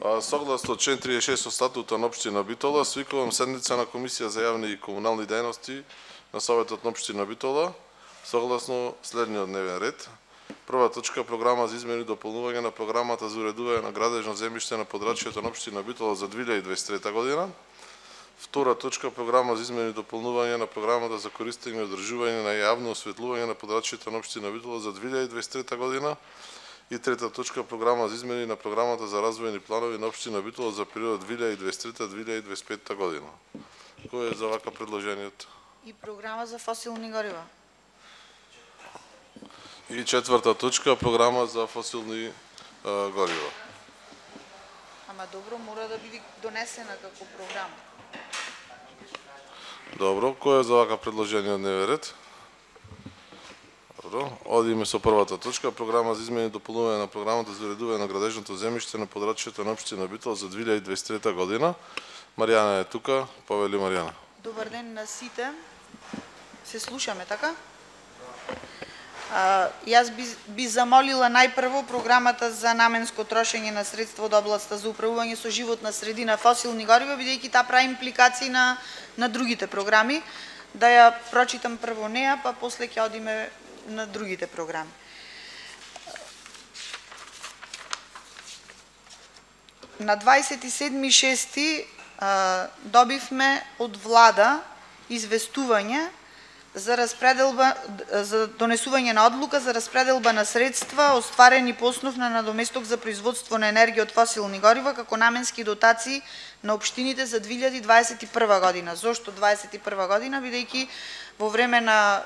Согласно член 36 од статутот на општина Битола, свикувам седница на Комисија за јавни и комунални дејности на Советот на општина Битола, согласно следниот дневен ред. Прва точка, програма за измени и дополнување на програмата за уредување на градежно земјиште на подрачјето на општина Битола за 2023 година. Втора точка, програма за измени и дополнување на програмата за користење и одржување на јавно осветлување на подрачјето на општина Битола за 2023 година. И трета точка, програма за измени на програмата за развојни планови на општина Битола за период 2023-2025 година. Кој е за вака предложението? И програма за фосилни горива. И четврта точка, програма за фосилни горива. Ама добро, мора да биде донесена како програма. Добро, кој е за вака предложение од дневен ред? Добро, одиме со првата точка, програма за измени и дополнување на програмата за уредување на градежното земјиште на подрачјето на општина Битола за 2023 година. Маријана е тука, повели Маријана. Добар ден на сите. Се слушаме, така? Јас би замолила најпрво програмата за наменско трошење на средства од областта за управување со животна средина фосилни горива, бидејќи таа прави импликации на другите програми. Да ја прочитам прво неа, па после ќе одиме на другите програми. На 27.6. Добивме од влада известување за донесување на одлука за распределба на средства остварени по основ на надоместок за производство на енергија од фосилни горива како наменски дотации на општините за 2021 година. Зошто 2021 година? Бидејќи во време на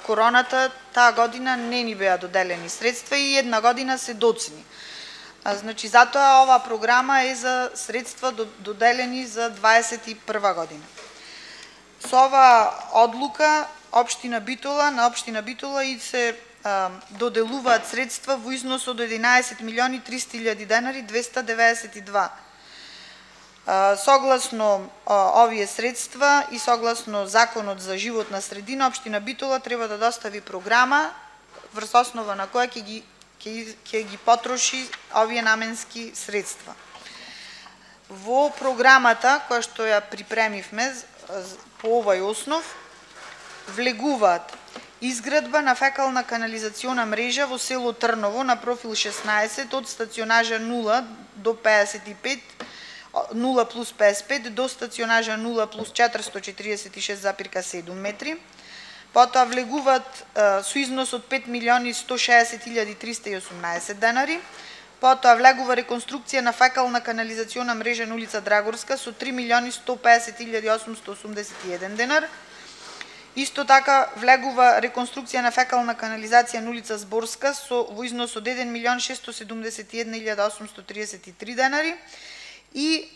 короната таа година не ни беа доделени средства и една година се доцни. Значи, затоа оваа програма е за средства доделени за 2021 година. Со оваа одлука на општина Битола и се доделуваат средства во износ од 11.300.000 денари 292. Согласно овие средства и согласно Законот за животна средина, општина Битола треба да достави програма врз основа на која ќе ги потроши овие наменски средства. Во програмата која што ја припремивме по овој основ влегуваат изградба на фекална канализациона мрежа во село Трново на профил 16 од стационажа 0 до 55, 0 плюс 55 до стационажа 0 плюс 446,7 метри. Потоа влегуваат со износ од 5.160.318 денари. Потоа влегува реконструкција на фекална канализациона мрежа на улица Драгорска со 3.150.881 денар. Исто така влегува реконструкција на фекална канализација на улица Зборска во износ од 1.671.833 денари и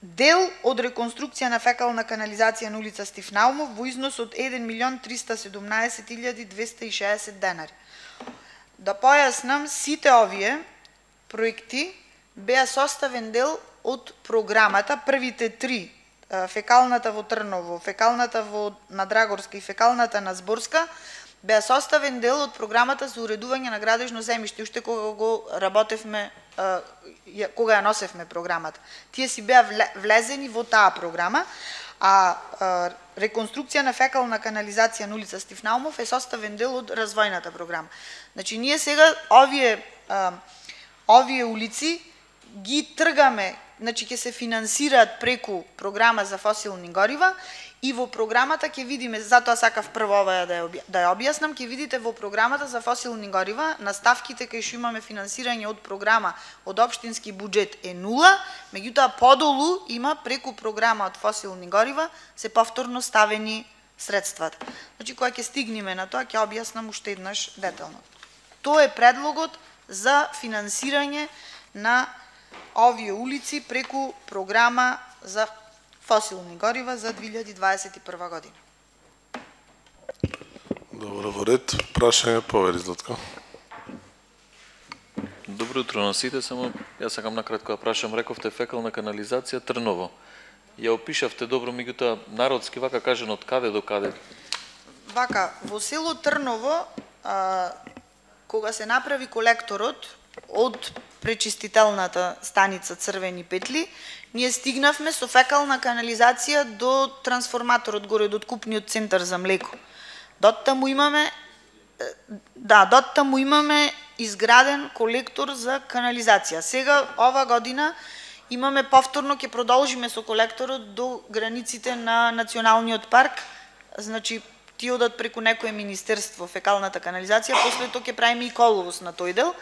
дел од реконструкција на фекална канализација на улица Стив Наумов во износ од 1.317.260 денари. Да појаснам, сите овие проекти беа составен дел од програмата, првите три, фекалната во Трново, фекалната на Драгорска и фекалната на Зборска, беа составен дел од програмата за уредување на градежно земјиште, уште кога го работевме, кога ја носевме програмата. Тие си беа влезени во таа програма, а реконструкција на фекална канализација на улица Стив Наумов е составен дел од развојната програма. Значи, ние сега овие улици ги тргаме, значи ќе се финансираат преку програма за фосилни горива и во програмата ќе видиме, затоа сакав прво ова да ја објаснам, ќе видите во програмата за фосилни горива на ставките кај што имаме финансирање од програма од општински буџет е 0, меѓутоа подолу има преку програма од фосилни горива се повторно ставени средствата. Значи, кога ќе стигнеме на тоа, ќе објаснам уште еднаш детално. Тоа е предлогот за финансирање на овие улици преку програма за фосилни горива за 2021 година. Добро, во ред. Прашање, повели Златко. Добро утро на сите, само јас сакам накратко да прашам, рековте фекална канализација Трново. Ја опишавте добро, меѓутоа народски вака кажано од каде до каде? Вака, во село Трново, кога се направи колекторот од пречистителната станица Црвени петли, ние стигнавме со фекална канализација до трансформаторот горе до откупниот центар за млеко. Доттаму имаме изграден колектор за канализација. Сега ова година имаме повторно, ќе продолжиме со колекторот до границите на националниот парк. Значи ти одат преку некое министерство фекалната канализација, после тоа ќе правиме и коловоз на тој дел.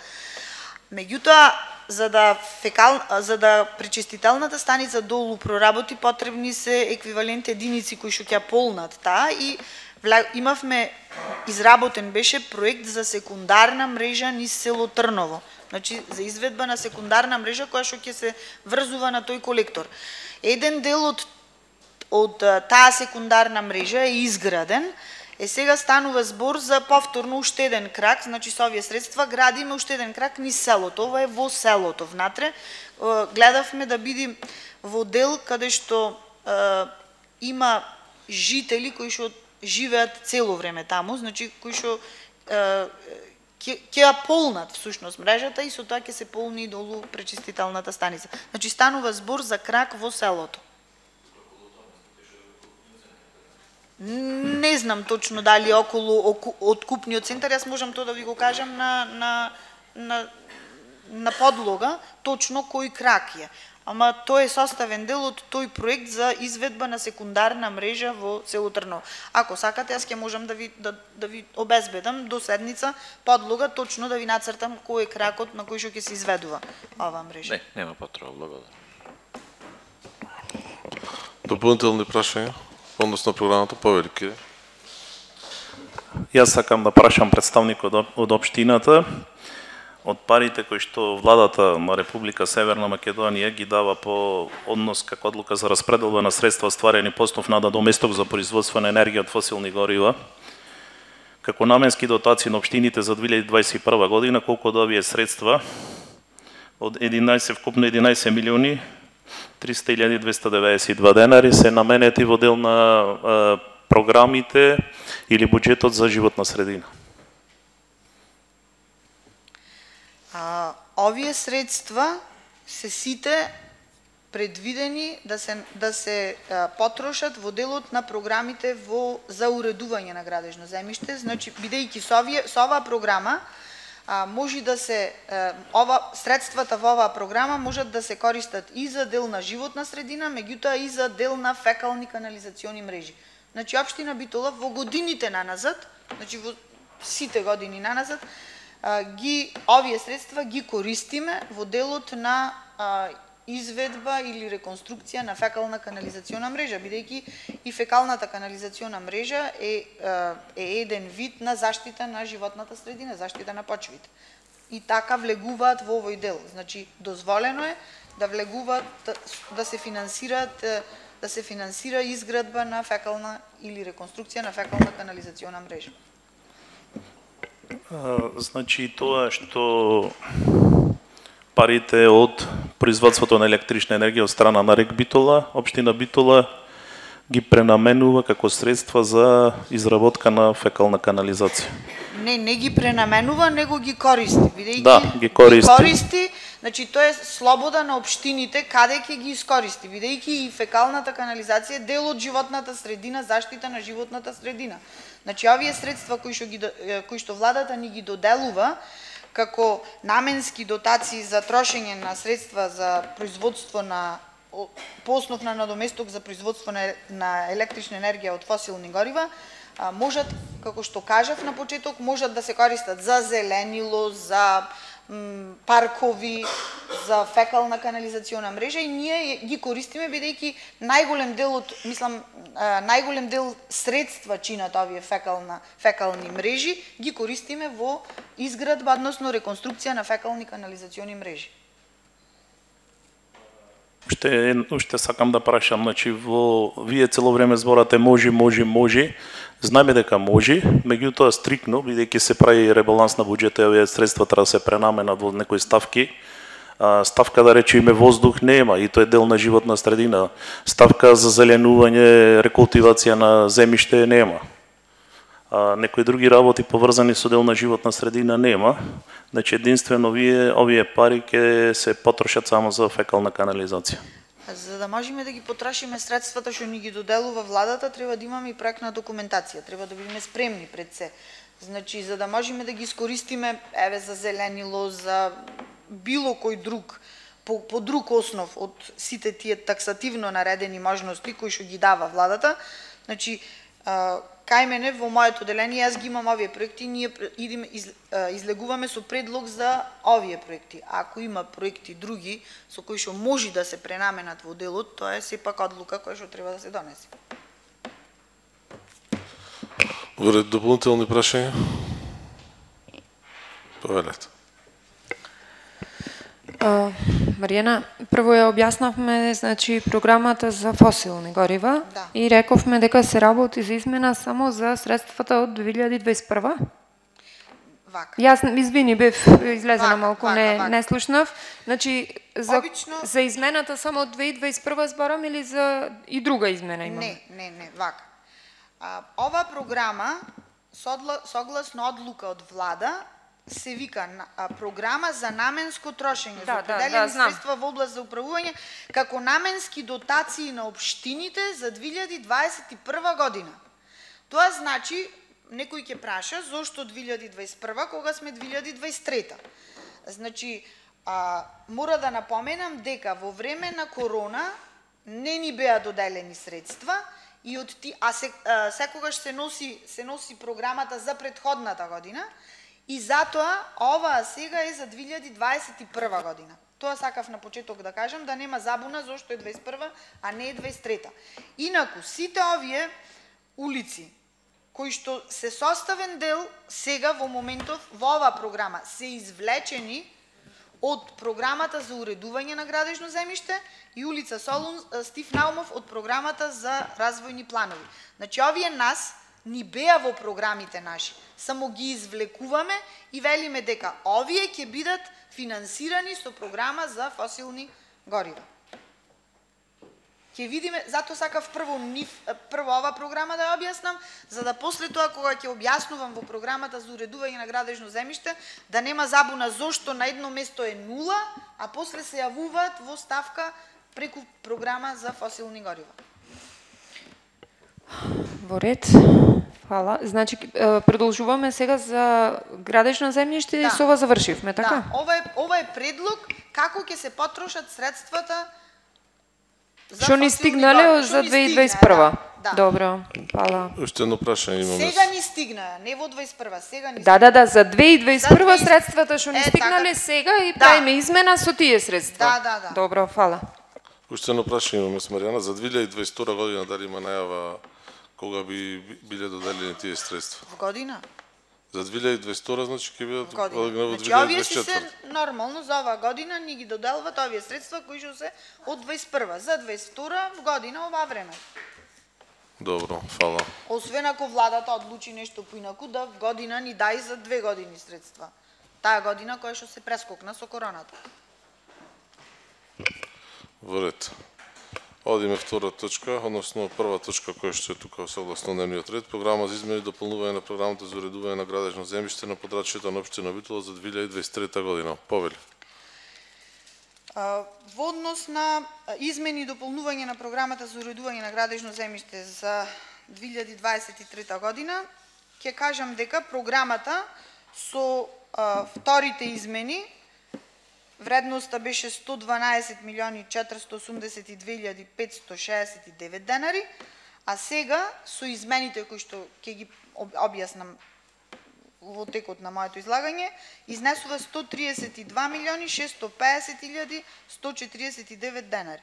Меѓутоа, за да пречистителната станица долу проработи, потребни се еквивалент единици кои што ќе полнат таа и имавме изработен беше проект за секундарна мрежа низ село Трново. Значи за изведба на секундарна мрежа која што ќе се врзува на тој колектор. Еден дел од таа секундарна мрежа е изграден. Сега станува збор за повторно уште еден крак, значи со овие средства градиме уште еден крак низ селото. Ова е во селото внатре. Гледавме да бидим во дел каде што има жители кои што живеат цело време таму, значи кои што ќе ја полнат всушност мрежата и со тоа ќе се полни долу пречистителната станица. Значи станува збор за крак во селото. Не знам точно дали околу откупниот центар, јас можам тоа да ви го кажам на подлога, точно кој крак е. Ама тој е составен дел од тој проект за изведба на секундарна мрежа во село Трново. Ако сакате, јас ќе можам да ви обезбедам до седница подлога, точно да ви нацртам кој е кракот на кој што ќе се изведува оваа мрежа. Не, нема потреба, благодарам. Дополнителни прашања? Односно програмата повелики. Јас сакам да прашам представникот од општината. Од парите кои што владата на Република Северна Македонија ги дава по однос како одлука за распределба на средства стварени по основ на доместок за производство на енергија од фосилни горива, како наменски дотации на општините за 2021 година, колку од овие средства од 11 вкупно 11 милиони 300.292 денари се наменети во дел на програмите или буџетот за животна средина. Овие средства се сите предвидени да се потрошат во делот на програмите за уредување на градежно земјиште. Значи, бидејќи со оваа програма може да се средствата во оваа програма можат да се користат и за дел на животна средина, меѓутоа и за дел на фекални канализациони мрежи. Значи општина Битола во годините наназад, значи во сите години наназад, овие средства ги користиме во делот на изведба или реконструкција на фекална канализациона мрежа, бидејќи и фекалната канализациона мрежа е еден вид на заштита на животната средина, заштита на почвите. И така влегуваат во овој дел. Значи дозволено е да влегуваат, да се финансира изградба на фекална или реконструкција на фекална канализациона мрежа. Значи тоа што парите од производството на електрична енергија од страна на РЕК Битола, општина Битола ги пренаменува како средства за изработка на фекална канализација. Не ги пренаменува, него ги користи. Бидејќи ги користи. Значи тоа е слобода на општините каде ќе ги искористи, бидејќи и фекалната канализација е дел од животната средина, заштита на животната средина. Значи овие средства кои што владата ни ги доделува како наменски дотации за трошење на средства за производство по основ на надоместок за производство на електрична енергија од фосилни горива, можат, како што кажав на почеток, можат да се користат за зеленило, за паркови, за фекална канализациона мрежа и ние ги користиме бидејќи најголем дел средства чинат овие фекални мрежи, ги користиме во изградба, односно реконструкција на фекални канализациони мрежи. Уште сакам да прашам, значи вие цело време зборате може. Знаеме дека може, меѓутоа стрикно, бидејќи се прави ребаланс на буџетот, овие средства треба да се пренаменат во некои ставки. Ставка да речеме воздух нема и тоа е дел на животна средина. Ставка за зеленување, рекултивација на земјиште нема. некои други работи поврзани со дел на животна средина нема. Значи единствено овие пари ќе се потрошат само за фекална канализација. За да можеме да ги потрошиме средствата што ни ги доделува владата, треба да имаме и проектна документација, треба да бидеме спремни пред се. Значи, за да можеме да ги искористиме, еве, за зеленило, за било кој друг, по друг основ од сите тие таксативно наредени можности кои што ги дава владата, значи, кај мене во моето деление јас ги имам овие проекти, ние идеме излегуваме со предлог за овие проекти. Ако има проекти други со кои што може да се пренаменат во делот, тоа е сепак одлука која што треба да се донесе. Вред дополнителни прашања? Повелете. Маријана, прво ја објаснавме, значи, програмата за фосилни горива, да, и рековме дека се работи за измена само за средствата од 2021. Вака. Јас, извини, бев излезена малку, не слушнав. Значи, за измената само од 2021 зборам или за и друга измена имаме? Не, вака. Ова програма, согласно одлука од влада, се вика програма за наменско трошење, за определени средства во област за управување, како наменски дотации на општините за 2021 година. Тоа значи, некој ќе праша, зошто 2021, кога сме 2023? Значи, мора да напоменам дека во време на корона не ни беа доделени средства, и од секогаш се носи програмата за претходната година, и затоа оваа сега е за 2021 година. Тоа сакав на почеток да кажам, да нема забуна зошто е 21, а не е 23. Инаку, сите овие улици, кои што се составен дел сега во моментов во оваа програма, се извлечени од програмата за уредување на градежно земјиште и улица Солун Стив Наумов од програмата за развојни планови. Значи, овие нас ни беа во програмите наши, само ги извлекуваме и велиме дека овие ќе бидат финансирани со програма за фосилни горива. Ќе видиме, затоа сакав прво ова програма да ја објаснам, за да после тоа кога ќе објаснувам во програмата за уредување на градежно земјиште, да нема забуна зошто на едно место е 0, а после се јавуваат во ставка преку програма за фосилни горива. Во ред. Фала. Значи, продолжуваме сега за градежно земјиште и со ова завршивме, така? Да, ова е предлог како ќе се потрошат средствата за што ни стигнале за 2021. Добро, фала. Уште едно прашање имаме. Сега ни стигна, не во 21, сега ни стигна. Да, за 2021 средствата што ни стигнале сега и правиме измена со тие средства. Да. Добро, фала. Уште едно прашање имаме с Маријана. За 2022 година дали има најава кога би биле доделени тие средства? В година? За 2022 значи ќе бидат во година. Значи овие се нормално за оваа година ни ги доделват овие средства кои што се од 21 за 22 в година ова време. Добро, фала. Освен ако владата одлучи нешто поинаку да в година ни дај за 2 години средства. Таа година која што се прескокна со короната. Во ред. Одиме втора точка, односно прва точка која што е тука согласно дневниот ред, програма за измени и дополнување на програмата за уредување на градежно земјиште на подрачјето на општина Битола за 2023 година. Повели. Во однос на измени и дополнување на програмата за уредување на градежно земјиште за 2023 година, ќе кажам дека програмата со вторите измени вредноста беше 112.482.569 денари, а сега со измените кои што ќе ги објаснам во текот на моето излагање, изнесува 132.650.149 денари.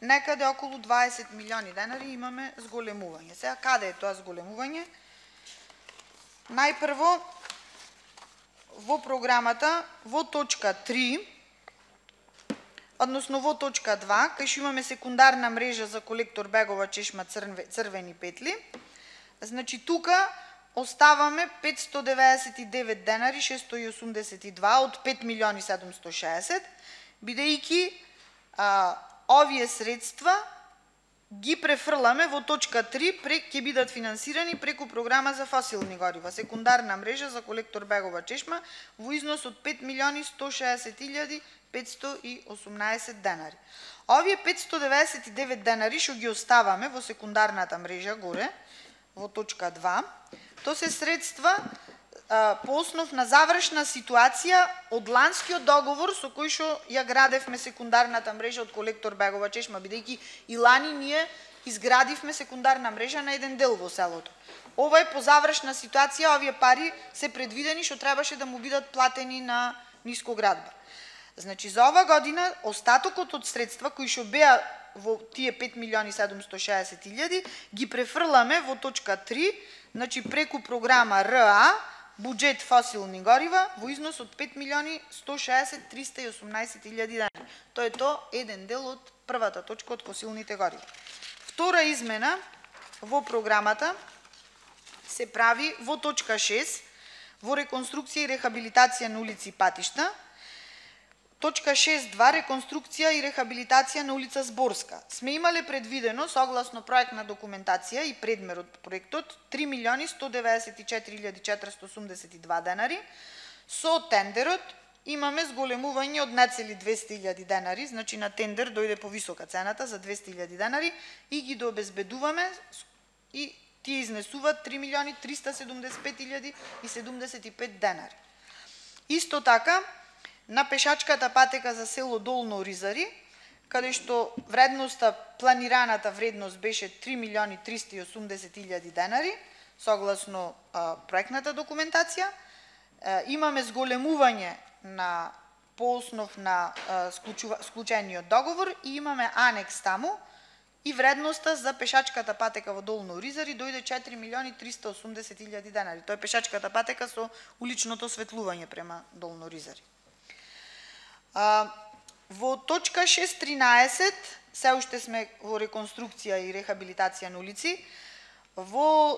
Некаде околу 20 милиони денари имаме зголемување. Сега, каде е тоа зголемување? Најпрво, во програмата, во точка 3, односно во точка 2, кај што имаме секундарна мрежа за колектор Бегова чешма црвени петли, значи тука оставаме 599 денари 682 од 5 милиони 760, бидејќи овие средства ги префрламе во точка 3, ќе бидат финансирани преку програма за фосилни горива, секундарна мрежа за колектор Бегова чешма во износ од 5.160.518 денари. Овие 599 денари што ги оставаме во секундарната мрежа горе, во точка 2, то се средства по основ на завршна ситуација од ланскиот договор со кој што ја градевме секундарната мрежа од колектор Бегова чешма, бидејќи и лани ние изградивме секундарна мрежа на еден дел во селото. Ова е по завршна ситуација, овие пари се предвидени што требаше да му бидат платени на Нискоградба. Значи за ова година остатокот од средства кои што беа во тие 5.760.000 ги префрламе во точка 3, значи преку програма РА буџет фосилни горива во износ од 5.160.318.000 денари. Тоа е еден дел од првата точка од фосилните горива. Втора измена во програмата се прави во точка 6 во реконструкција и рехабилитација на улици и патишта. Точка 6.2 реконструкција и рехабилитација на улица Зборска. Сме имале предвидено согласно проектна документација и предмер од проектот 3.194.482 денари. Со тендерот имаме зголемување од нецели 200.000 денари, значи на тендер дојде повисока цената за 200.000 денари и ги дообезбедуваме и тие изнесуваат 3.375.075 денари. Исто така, на пешачката патека за село Долно Оризари, каде што вредноста, планираната вредност беше 3.380.000 денари, согласно проектната документација, имаме зголемување на по основ на склучениот договор и имаме анекс таму и вредноста за пешачката патека во Долно Оризари дојде 4.380.000 денари. Тоа е пешачката патека со уличното осветлување према Долно Оризари. Во точка 6.13 се уште сме во реконструкција и рехабилитација на улици. Во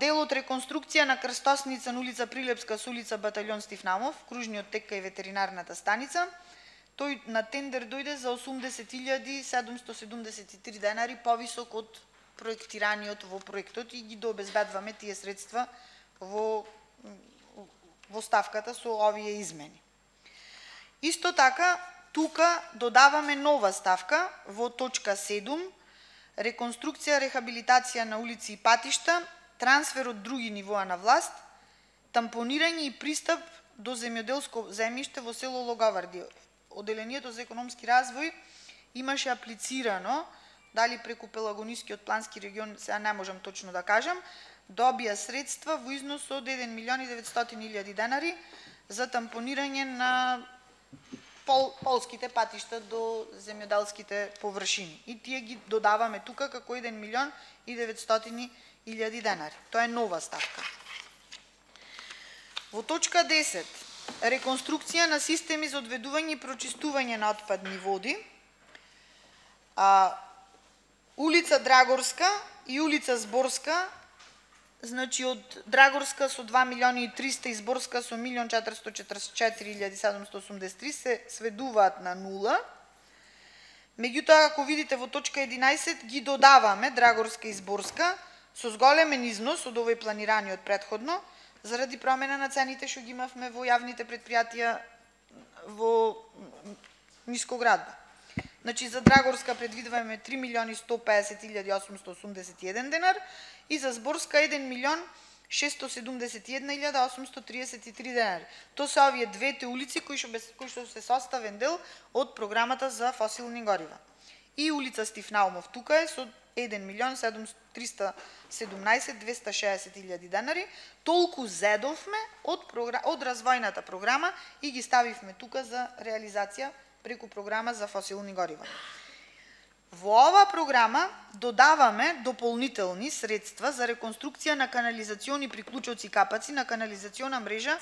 делот реконструкција на крстосница на улица Прилепска со улица Батальон Стифнамов, кружниот текка и ветеринарната станица, тој на тендер дојде за 80.773 денари повисок од проектираниот во проектот и ги дообезбедваме тие средства во ставката со овие измени. Исто така, тука додаваме нова ставка во точка 7, реконструкција, рехабилитација на улици и патишта, трансфер од други нивоа на власт, тампонирање и пристап до земјоделско земјиште во село Логоварди. Оделението за економски развој имаше аплицирано, дали преку Пелагонискиот плански регион, сега не можам точно да кажам, добија средства во износ од 1.900.000 денари за тампонирање на полските патишта до земјоделските површини. И тие ги додаваме тука како 1.900.000 денари. Тоа е нова ставка. Во точка 10. Реконструкција на системи за одведување и прочистување на отпадни води. Улица Драгорска и улица Зборска, значи од Драгорска со 2.300.000 и Зборска со 1.444.783 се сведуваат на нула. Меѓутоа, ако видите во точка 11, ги додаваме Драгорска и Зборска со зголемен износ од овој планираниот предходно, заради промена на цените што ги имавме во јавните предпријатија во Нискоградба. Значи, за Драгорска предвидуваме 3.150.881 денар и за Зборска 1.671.833 денари. Тоа се овие двете улици кои што се составен дел од програмата за фосилни горива. И улица Стифнаумов тука е со 1.317.260.000 денари. Толку зедовме од развојната програма и ги ставивме тука за реализација преку програма за фосилни горива. Во ова програма додаваме дополнителни средства за реконструкција на канализациони приклучоци и капаци на канализациона мрежа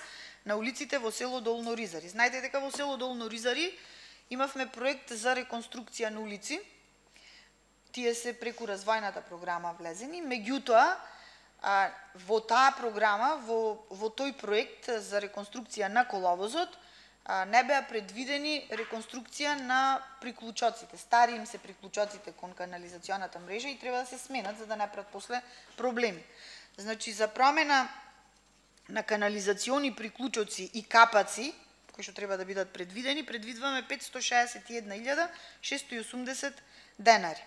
на улиците во село Долно Оризари. Знаете дека во село Долно Оризари имавме проект за реконструкција на улици. Тие се преку развојната програма влезени, меѓутоа во таа програма, во тој проект за реконструкција на коловозот, не беа предвидени реконструкција на приклучоците. Стари им се приклучоците кон канализационата мрежа и треба да се сменат за да не прават после проблеми. Значи за промена на канализациони приклучоци и капаци кои што треба да бидат предвидени, предвидваме 561.680 денари.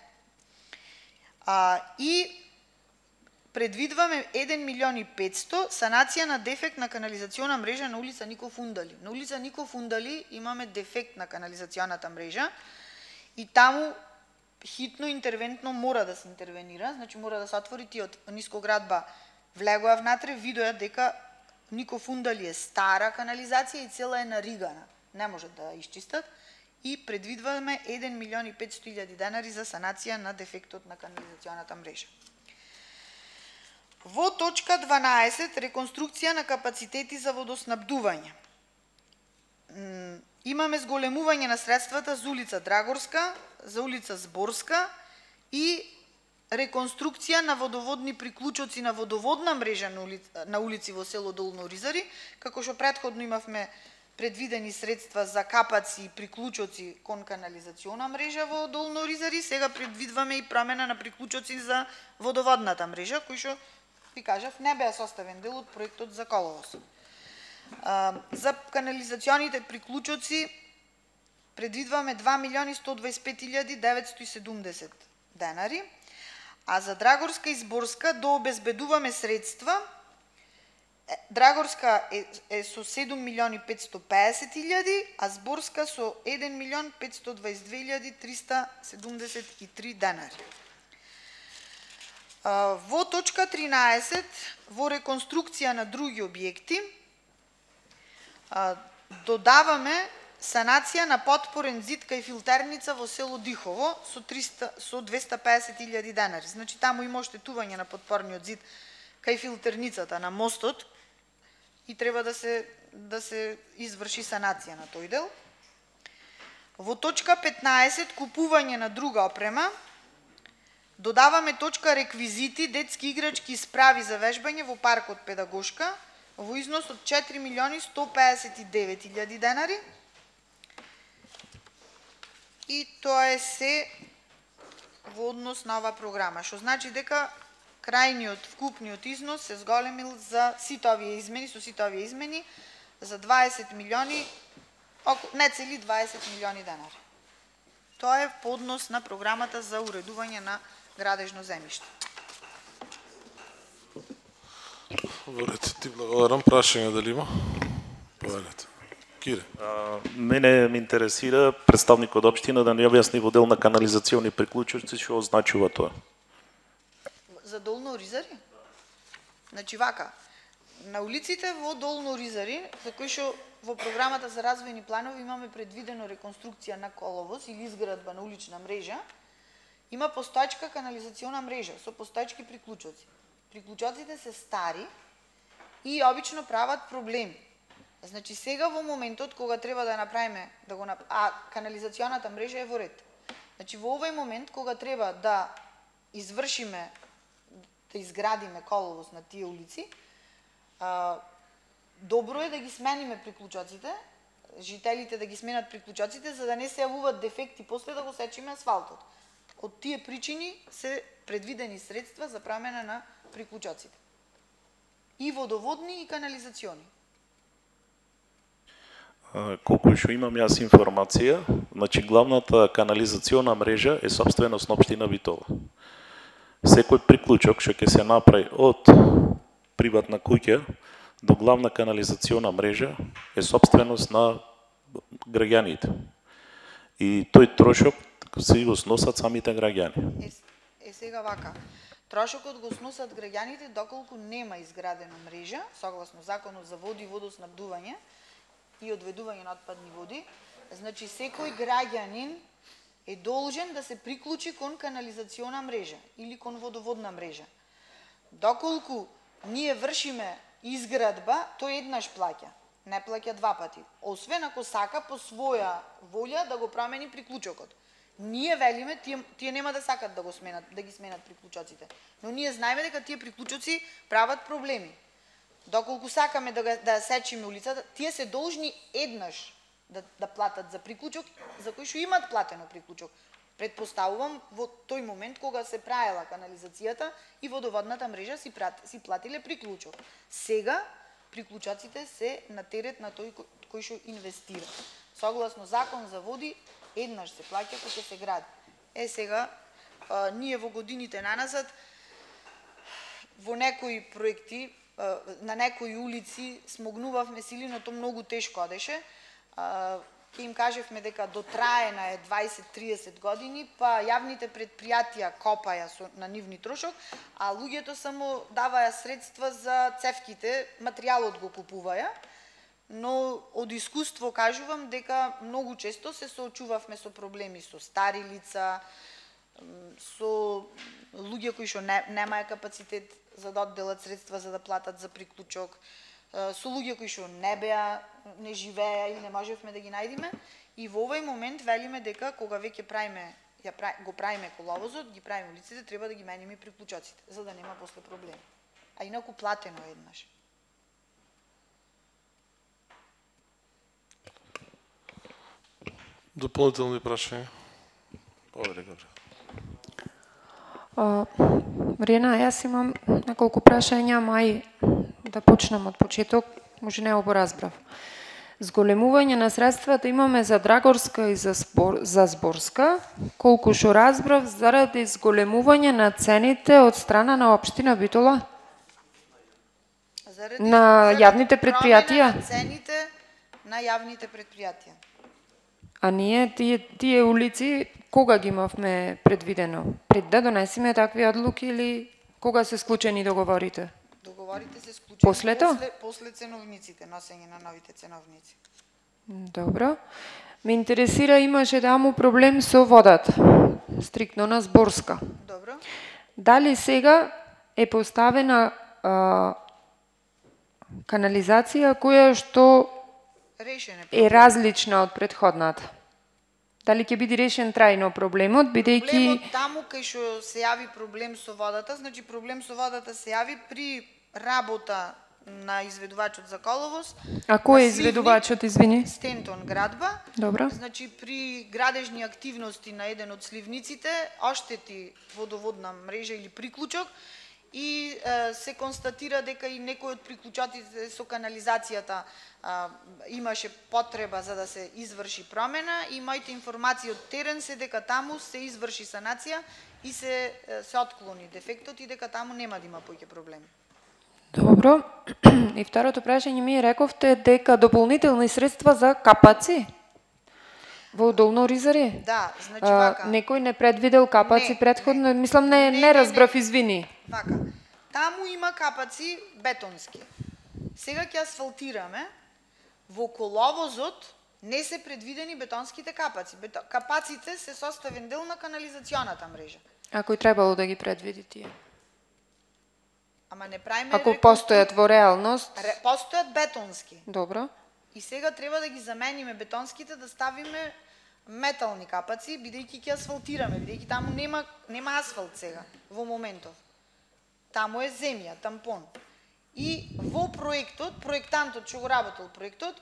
И предвидваме 1.500.000 санација на дефект на канализациона мрежа на улица Нико Фундали. На улица Нико Фундали имаме дефект на канализационата мрежа и таму хитно интервентно мора да се интервенира, значи мора да се отвори тиот нискоградба влегоа внатре, видоа дека Нико Фундали е стара канализација и цела е наригана. Не може да ја исчистат и предвидваме 1.500.000 денари за санација на дефектот на канализационата мрежа. Во точка 12 реконструкција на капацитети за водоснабдување. Имаме зголемување на средствата за улица Драгорска, за улица Зборска и реконструкција на водоводни приклучоци на водоводна мрежа на улици во село Долно Оризари, како што претходно имавме предвидени средства за капаци и приклучоци кон канализациона мрежа во Долно Оризари, сега предвидваме и промена на приклучоци за водоводната мрежа, кои што ви кажав не беа составен дел од проектот за коловоз. За канализационите приклучоци предвидваме 2.125.970 денари, а за Драгорска и Зборска дообезбедуваме средства. Драгорска е со 7.550.000, а Зборска со 1.522.373 денари. Во точка 13, во реконструкција на други објекти, додаваме санација на подпорен зид кај филтерница во село Дихово со 250.000 денари. Значи таму има оштетување на подпорниот зид кај филтерницата на мостот и треба да се изврши санација на тој дел. Во точка 15 купување на друга опрема додаваме точка реквизити, детски играчки и справи за вежбање во паркот Педагошка во износ од 4.159.000 денари. И тоа е се во однос на оваа програма, што значи дека крајниот вкупниот износ се зголемил за сите овие измени, со сите овие измени за 20 милиони, не цели 20 милиони денари. Тоа е по однос на програмата за уредување на градежно земјиште. Во ред, ти благодарам. Прашање дали има? Повелете. Кире. Мене ме интересира представникот од општина да ни објасни во дел на канализациони приклучоци што означува тоа. За Долно Оризари? Значи вака, на улиците во Долно Оризари, за кои што во програмата за развојни планови имаме предвидено реконструкција на коловоз или изградба на улична мрежа, има постоечка канализациона мрежа со постоечки приклучоци. Приклучоците се стари и обично прават проблеми. Значи сега во моментот кога треба да направиме канализационата мрежа е во ред. Значи во овој момент кога треба да извршиме да изградиме коловоз на тие улици, добро е да ги смениме приклучоците, жителите да ги сменат приклучоците за да не се јавуваат дефекти после да го сечиме асфалтот. Од тие причини се предвидени средства за промена на приклучоците. И водоводни и канализациони. Колку што имам јас информација, значи главната канализациона мрежа е собственост на општина Битола. Секој приклучок што ќе се направи од приватна куќа до главна канализациона мрежа е собственост на граѓаните. И тој трошок се го сносат самите граѓани. Сега вака. Трошокот го сносат граѓаните доколку нема изградена мрежа, согласно Законот за води и водоснабдување и одведување на отпадни води. Значи секој граѓанин е должен да се приклучи кон канализациона мрежа или кон водоводна мрежа. Доколку ние вршиме изградба, тој еднаш плаќа, не плаќа два пати. Освен ако сака по своја волја да го промени приклучокот. Ние велиме, тие нема да сакат да ги сменат приклучоците. Но ние знаеме дека тие приклучоци прават проблеми. Доколку сакаме да сечиме улицата, тие се должни еднаш да платат за приклучок, за кои што имаат платено приклучок. Предпоставувам во тој момент кога се праела канализацијата и водоводната мрежа си платиле приклучок. Сега приклучаците се на терет на тој кој што инвестира. Согласно закон за води, еднаш се плаќа кога ќе се гради. Сега ние во годините наназад во некои проекти на некои улици смогнувавме сили, но то многу тешко одеше. Ке им кажевме дека дотраена е 20-30 години, па јавните предпријатија копаја на нивни трошок, а луѓето само даваја средства за цевките, материјалот го купуваја, но од искуство кажувам дека многу често се соочувавме со проблеми со стари лица, со луѓе кои што немаја капацитет за да одделат средства за да платат за приклучок, со луѓе кои што не живееја или не можевме да ги најдеме, и во овој момент велиме дека кога веќе го правиме коловозот, ги правиме улиците, треба да ги мениме и приклучоците, за да нема после проблеми. А инаку платено еднаш. Дополнителни прашања? Марина, јас имам неколку прашања, мај да почнам од почеток, може не го разбрав. Зголемување на средствата имаме за Драгорска и за Зборска, колку што разбрав, заради зголемување на цените од страна на општина Битола? На јавните предпријатија? На цените на јавните предпријатија. А ние тие улици кога ги имавме предвидено? Пред да донесеме такви одлуки или кога се склучени договорите? Договорите се склучени после ценовниците, носење на новите ценовници. Добро. Ме интересира, имаше таму проблем со водата, стриктно на Зборска. Добро. Дали сега е поставена канализација која што е различна од претходната? Дали ќе биде решен трајно проблемот, бидејќи... Проблемот таму кај што се јави проблем со водата, значи проблем со водата се јави при работа на изведувачот за коловоз. А кој е изведувачот, извини? Стентон градба. Добро. Значи при градежни активности на еден од сливниците оштети водоводна мрежа или приклучок и се констатира дека и некој од приклучатите со канализацијата имаше потреба за да се изврши промена и моите информации од терен се дека таму се изврши санација и се отклони дефектот и дека таму нема да има поќе проблеми. Добро. И второто прашање ми рековте дека дополнителни средства за капаци во Долно Оризаре? Да, значи вака. Некој не предвидел капаци предходно? Мислам, не разбрав, извини. Вака. Таму има капаци бетонски. Сега ќе асфалтираме. Во коловозот не се предвидени бетонските капаци. Капаците се составен дел на канализационата мрежа. Ако требало да ги предвиди тие? Ама не правиме... Ако постојат во реалност? Постојат бетонски. Добро. И сега треба да ги замениме бетонските, да ставиме метални капаци, бидејќи ќе асфалтираме, бидејќи таму нема асфалт сега, во моментов. Таму е земја, тампон. И во проектот, проектантот што го работел проектот,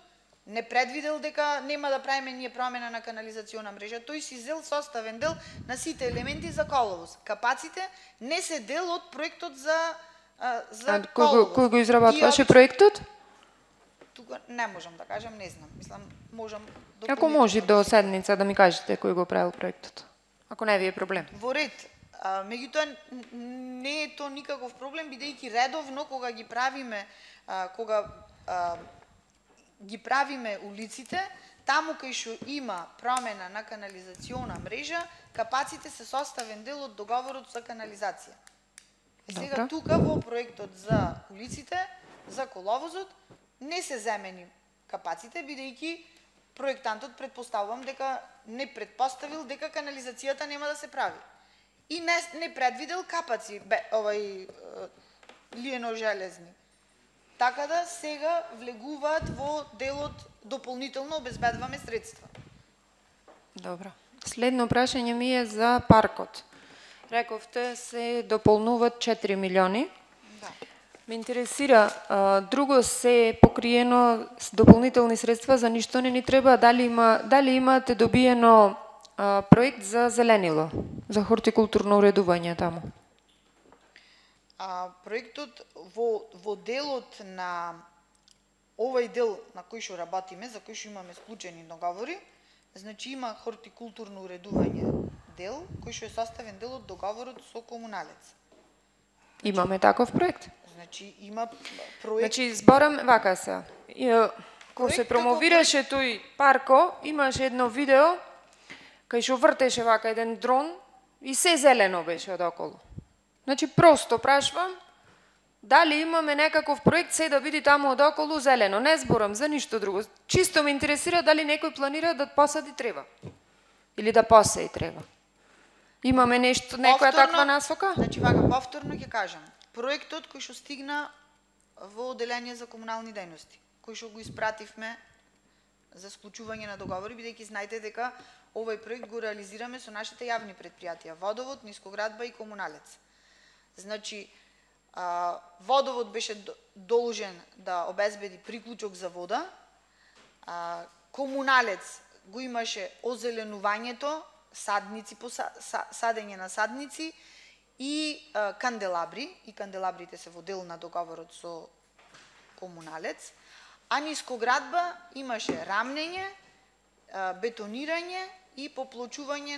не предвидел дека нема да правиме ние промена на канализациона мрежа. Тој си зел составен дел на сите елементи за коловоз. Капаците не се дел од проектот за коловоз. Кој го изработваше проектот? Тука не можам да кажам, не знам. Мислам, можам... Ако може до седница да ми кажете кој го правил проектот. Ако не ви е проблем. Во ред. Меѓутоа, не е то никаков проблем, бидејќи редовно кога ги правиме, улиците, таму кај што има промена на канализациона мрежа, капаците се составен дел од договорот за канализација. Сега тука во проектот за улиците, за коловозот, не се земени капаците, бидејќи проектантот предпоставувам дека не предпоставил дека канализацијата нема да се прави. И не предвидел капаци, лиено-железни. Така да сега влегуваат во делот дополнително обезбедуваме средства. Добро. Следно прашање ми е за паркот. Рековте се дополнуваат 4 милиони. Да. Ме интересира, друго се покриено с дополнителни средства, за ништо не ни треба, дали имате добиено проект за зеленило, за хортикултурно уредување таму? Проектот во делот на овој дел на кој што работиме, за кој што имаме склучени договори, значи има хортикултурно уредување дел, кој што е составен дел од договорот со комуналец. Имаме таков проект? Значи има проект. Значи зборам вака се. Кога се промовираше тој парко, имаше едно видео кај што вртеше вака еден дрон и се зелено беше одоколу. Значи просто прашвам дали имаме некаков проект се да биде таму одоколу зелено. Не зборам за ништо друго. Чисто ме интересира дали некој планира да посади трева. Или да посеи трева. Имаме нешто, некоја таква насока? Значи вака, повторно ќе кажам. Проектот кој што стигна во Оделение за комунални дејности, кој што го испративме за склучување на договори, бидејќи знаете дека овој проект го реализираме со нашите јавни предпријатија, Водовод, Нискоградба и Комуналец. Значи, Водовод беше должен да обезбеди приклучок за вода, Комуналец го имаше озеленувањето, садници, садење на садници и канделабри, и канделабрите се во дел на договорот со Комуналец, а Нискоградба имаше рамнење, бетонирање и поплочување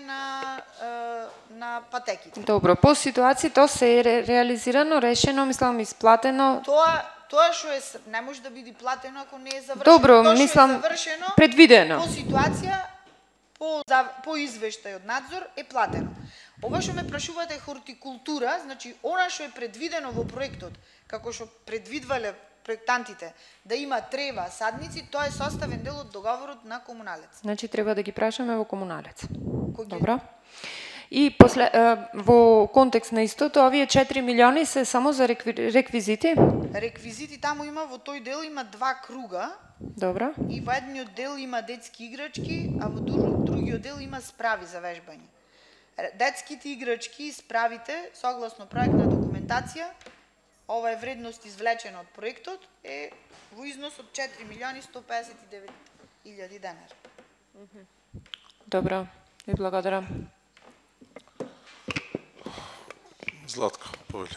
на патеките. Добро, по ситуација тоа се е реализирано, решено, мислам исплатено. Тоа што е не може да биде платено ако не е завршено. Добро, тоа мислам е завршено, предвидено. По ситуација по извештај од надзор е платено. Ова што ме прашувате хортикултура, значи она што е предвидено во проектот, како што предвидвале проектантите, да има трева, садници, тоа е составен дел од договорот на Комуналец. Значи треба да ги прашаме во Комуналец. Добро. И после во контекст на истото, овие 4 милиони се само за реквизити? Реквизити таму има, во тој дел има 2 круга. Добро. И во едниот дел има детски играчки, а во другиот дел има справи за вежбање. Детските играчки и справите, согласно проектна документација, ова е вредност извлечена од проектот, е во износ од 4 милиони 159 илјади денари. Добро, ви благодарам. Златко, повели.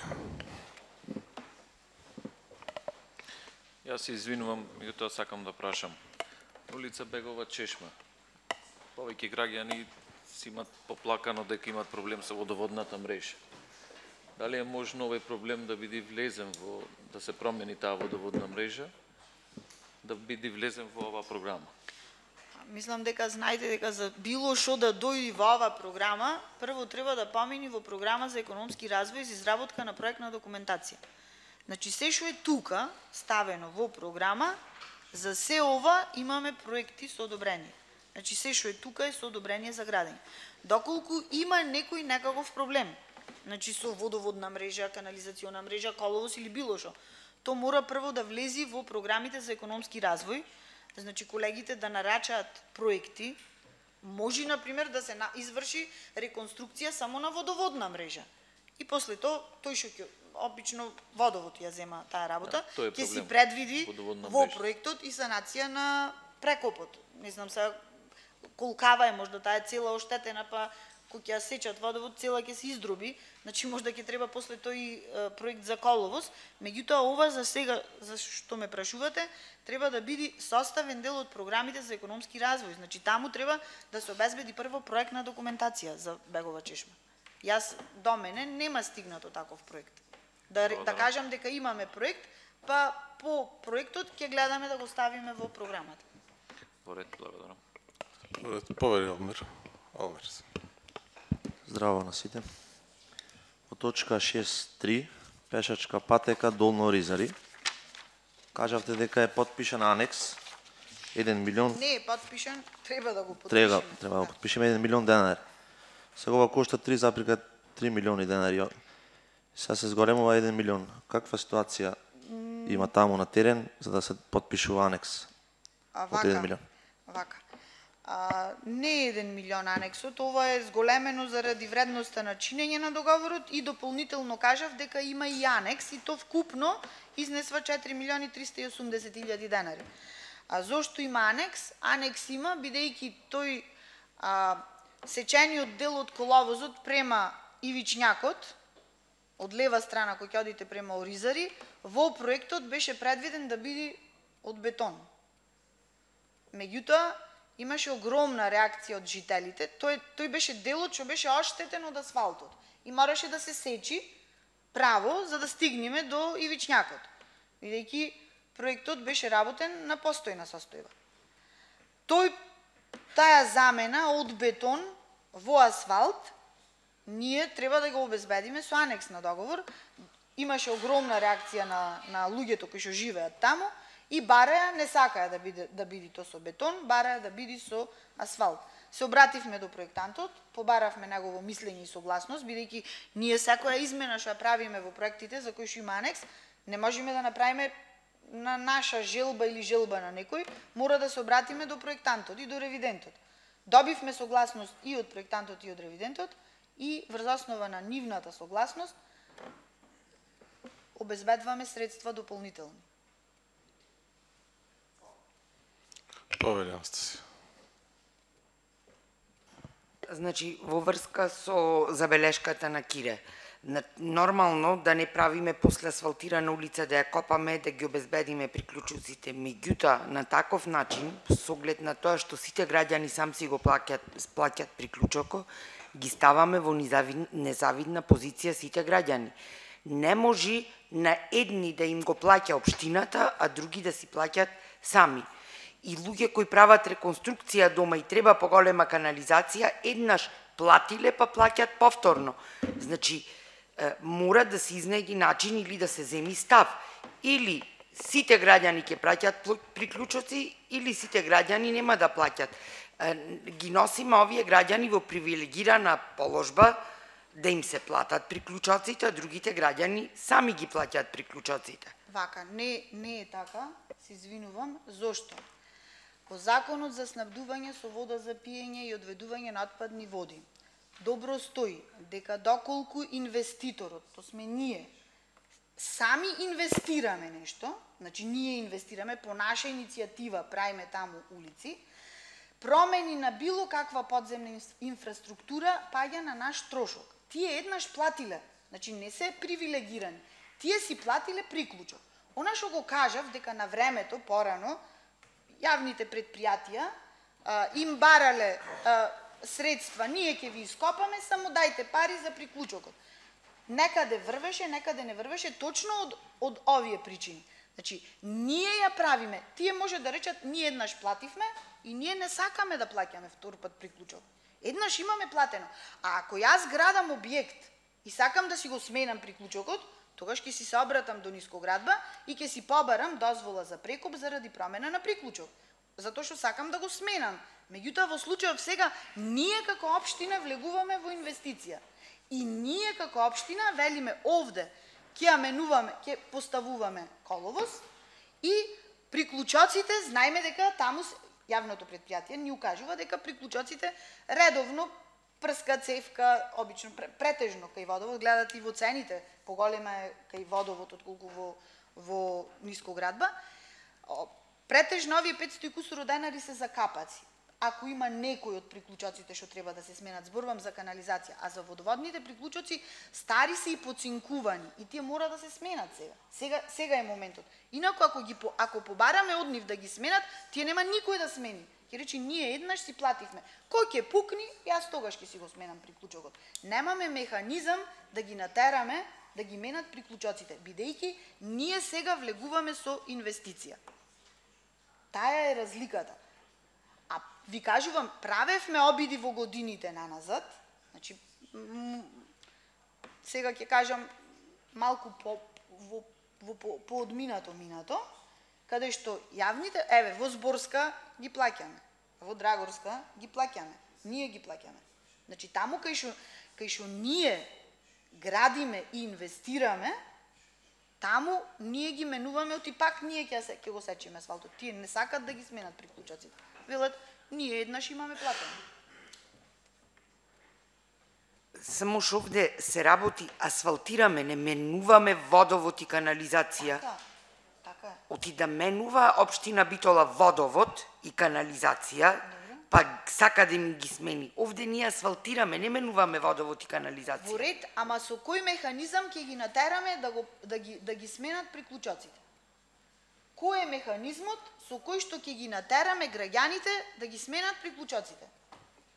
Јас се извинувам, меѓутоа сакам да прашам. Улица Бегова Чешма. Повеќе граѓани си имат поплакано дека имат проблем со водоводната мрежа. Дали е можно овој проблем да биде влезен во, да се промени таа водоводна мрежа, да биде влезен во оваа програма? Мислам дека знаете дека за било што да дојде во оваа програма, прво треба да помини во програма за економски развој за изработка на проектна документација. Значи се што е тука ставено во програма, за се ова имаме проекти со одобрение. Значи се што е тука е со одобрение за градење. Доколку има некој некаков проблем, значи со водоводна мрежа, канализациона мрежа, коловоз или било што, то мора прво да влези во програмите за економски развој. Значи колегите да нарачаат проекти, може например да се изврши реконструкција само на водоводна мрежа. И после тоа тој што ќе обично водовод ја зема таа работа, ќе си предвиди во проектот и санација на прекопот. Не знам сега колкава е можда таа цела оштетена, па кога ќе ја сечат водовод, цела ќе се издроби, значи можда ќе треба после тој проект за коловоз, меѓутоа ова за сега, за што ме прашувате, треба да биде составен дел од програмите за економски развој. Значи таму треба да се обезбеди прво проектна документација за Бегова Чешма. Јас до мене нема стигнато таков проект. Да кажам дека имаме проект, па по проектот ќе гледаме да го ставиме во програмата. Во ред, благодарам. Повери Алмир. Здраво на сите. Во точка 6.3, пешачка патека Долно Оризари, кажавте дека е подпишан анекс 1 милион. Не е подпишан, треба да го подпишеме. Треба да го подпишеме 1 милион денари. Сега ова кошта 3,3 милиони денари. Сега се зголемува 1 милион. Каква ситуација има таму на терен за да се подпишува анекс од 1 милион? Вака. Не е 1 милион анексот, ова е зголемено заради вредноста на чинење на договорот и дополнително кажав дека има и анекс и то вкупно изнесва 4 милиони 380 илјади денари. А зошто има анекс? Анекс има бидејќи тој сечениот дел од коловозот према Ивичњакот, од лева страна кој ќе одите према Оризари, во проектот беше предвиден да биде од бетон. Меѓутоа, имаше огромна реакција од жителите. Тој беше делот што беше оштетен од асфалтот и мораше да се сечи право за да стигнеме до Ивичњакот, бидејќи проектот беше работен на постојна состојба. Таа замена од бетон во асфалт ние треба да го обезбедиме со анекс на договор. Имаше огромна реакција на луѓето кои што живеат таму и бараја, не сакаја да биде то со бетон, бараја да биде со асфалт. Се обративме до проектантот, побаравме негово мислење и согласност, бидејќи ние секоја измена што ја правиме во проектите за кои што има анекс, не можеме да направиме на наша желба или желба на некој, мора да се обратиме до проектантот и до ревидентот. Добивме согласност и од проектантот и од ревидентот и врз основа на нивната согласност обезбедваме средства дополнителни. Повелјам сте си. Значи, во врска со забелешката на Кире, нормално да не правиме после асфалтирана улица, да ја копаме, да ги обезбедиме приклучоците. Меѓутоа, на таков начин, со оглед на тоа што сите граѓани сам си го плаќат приклучокот, ги ставаме во незавидна позиција сите граѓани. Не може на едни да им го плаќа општината, а други да си плаќат сами. И луѓе кои прават реконструкција дома и треба поголема канализација, еднаш платиле па плаќат повторно. Значи, мора да се изнајди начин или да се земи став. Или сите граѓани ќе плаќат приклучоци, или сите граѓани нема да плаќат. Ги носиме овие граѓани во привилегирана положба да им се платат приклучоците, а другите граѓани сами ги плаќаат приклучоците. Вака, не е така, се извинувам. Зошто? По Законот за снабдување со вода за пиење и одведување на отпадни води добро стои дека доколку инвеститорот, то сме ние, сами инвестираме нешто, значи ние инвестираме по наша иницијатива, правиме таму улици, промени на било каква подземна инфраструктура паѓа на наш трошок. Тие еднаш платиле, значи не се привилегирани, тие си платиле приклучок. Она што го кажав дека на времето, порано, јавните предпријатија им барале средства, ние ќе ви ископаме, само дајте пари за приклучокот. Некаде врвеше, некаде не врвеше, точно од овие причини. Значи, ние ја правиме, тие може да речат, ние еднаш плативме и ние не сакаме да плаќаме втор пат приклучок. Еднаш имаме платено. А ако јас градам објект и сакам да си го сменам приклучокот, тогаш ќе си се обратам до Нискоградба и ќе си побарам дозвола за прекоп заради промена на приклучок. Затоа што сакам да го сменам. Меѓутоа, во случајов сега, ние како општина влегуваме во инвестиција. И ние како општина велиме овде, ќе ја менуваме, ќе поставуваме коловоз и приклучоците, знаеме дека таму јавното предпријатие ни укажува дека приклучоците редовно прска цевка, обично претежно кај водовод, гледат и во цените, поголема е кај водовод отколку во Нискоградба. Претежно овие 500 и кусуро денари се за капаци. Ако има некој од приклучоците што треба да се сменат, зборувам за канализација, а за водоводните приклучоци стари се и поцинкувани и тие мора да се сменат сега. Сега е моментот. Инаку ако побараме од нив да ги сменат, тие нема никој да смени. Ќе речи ние еднаш си плативме. Кој ќе пукни, јас тогаш ќе си го сменам приклучокот. Немаме механизам да ги натераме да ги менат приклучоците, бидејќи ние сега влегуваме со инвестиција. Таа е разликата. А ви кажувам, правевме обиди во годините наназад, значи сега ќе кажам малку по одминато минато, каде што јавните, во Зборска ги плаќаме, во Драгорска ги плаќаме, ние ги плаќаме. Значи таму кај што ние градиме и инвестираме, таму ние ги менуваме, оти пак ние ќе го сечиме асфалтот. Тие не сакат да ги сменат приклучоците. Велат, Ние еднаш имаме платено. Само што овде се работи, асфалтираме, не менуваме водовод и канализација. Така е. Оти да менува општина Битола водовод и канализација, па сака да им ги смени. Овде ние асфалтираме, не менуваме водовод и канализација. Во ред, ама со кој механизам ќе ги натераме да ги сменат приклучоците? Кој е механизмот со кој што ќе ги натераме граѓаните да ги сменат приклучоците?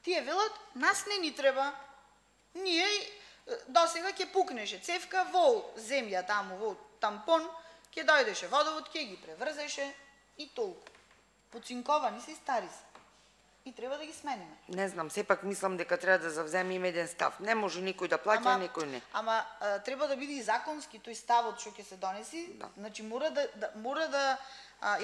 Тие велат, нас не ни треба. Ние досега ќе пукнеше цевка во земја таму, во тампон, ќе дојдеше водовод, ќе ги преврзеше и толку. Поцинковани се и стари се. И треба да ги смениме. Не знам, сепак мислам дека треба да завземеме еден став. Не може никој да плаќа, никој не. Ама треба да биде и законски тој ставот што ќе се донеси. Да. Значи мора да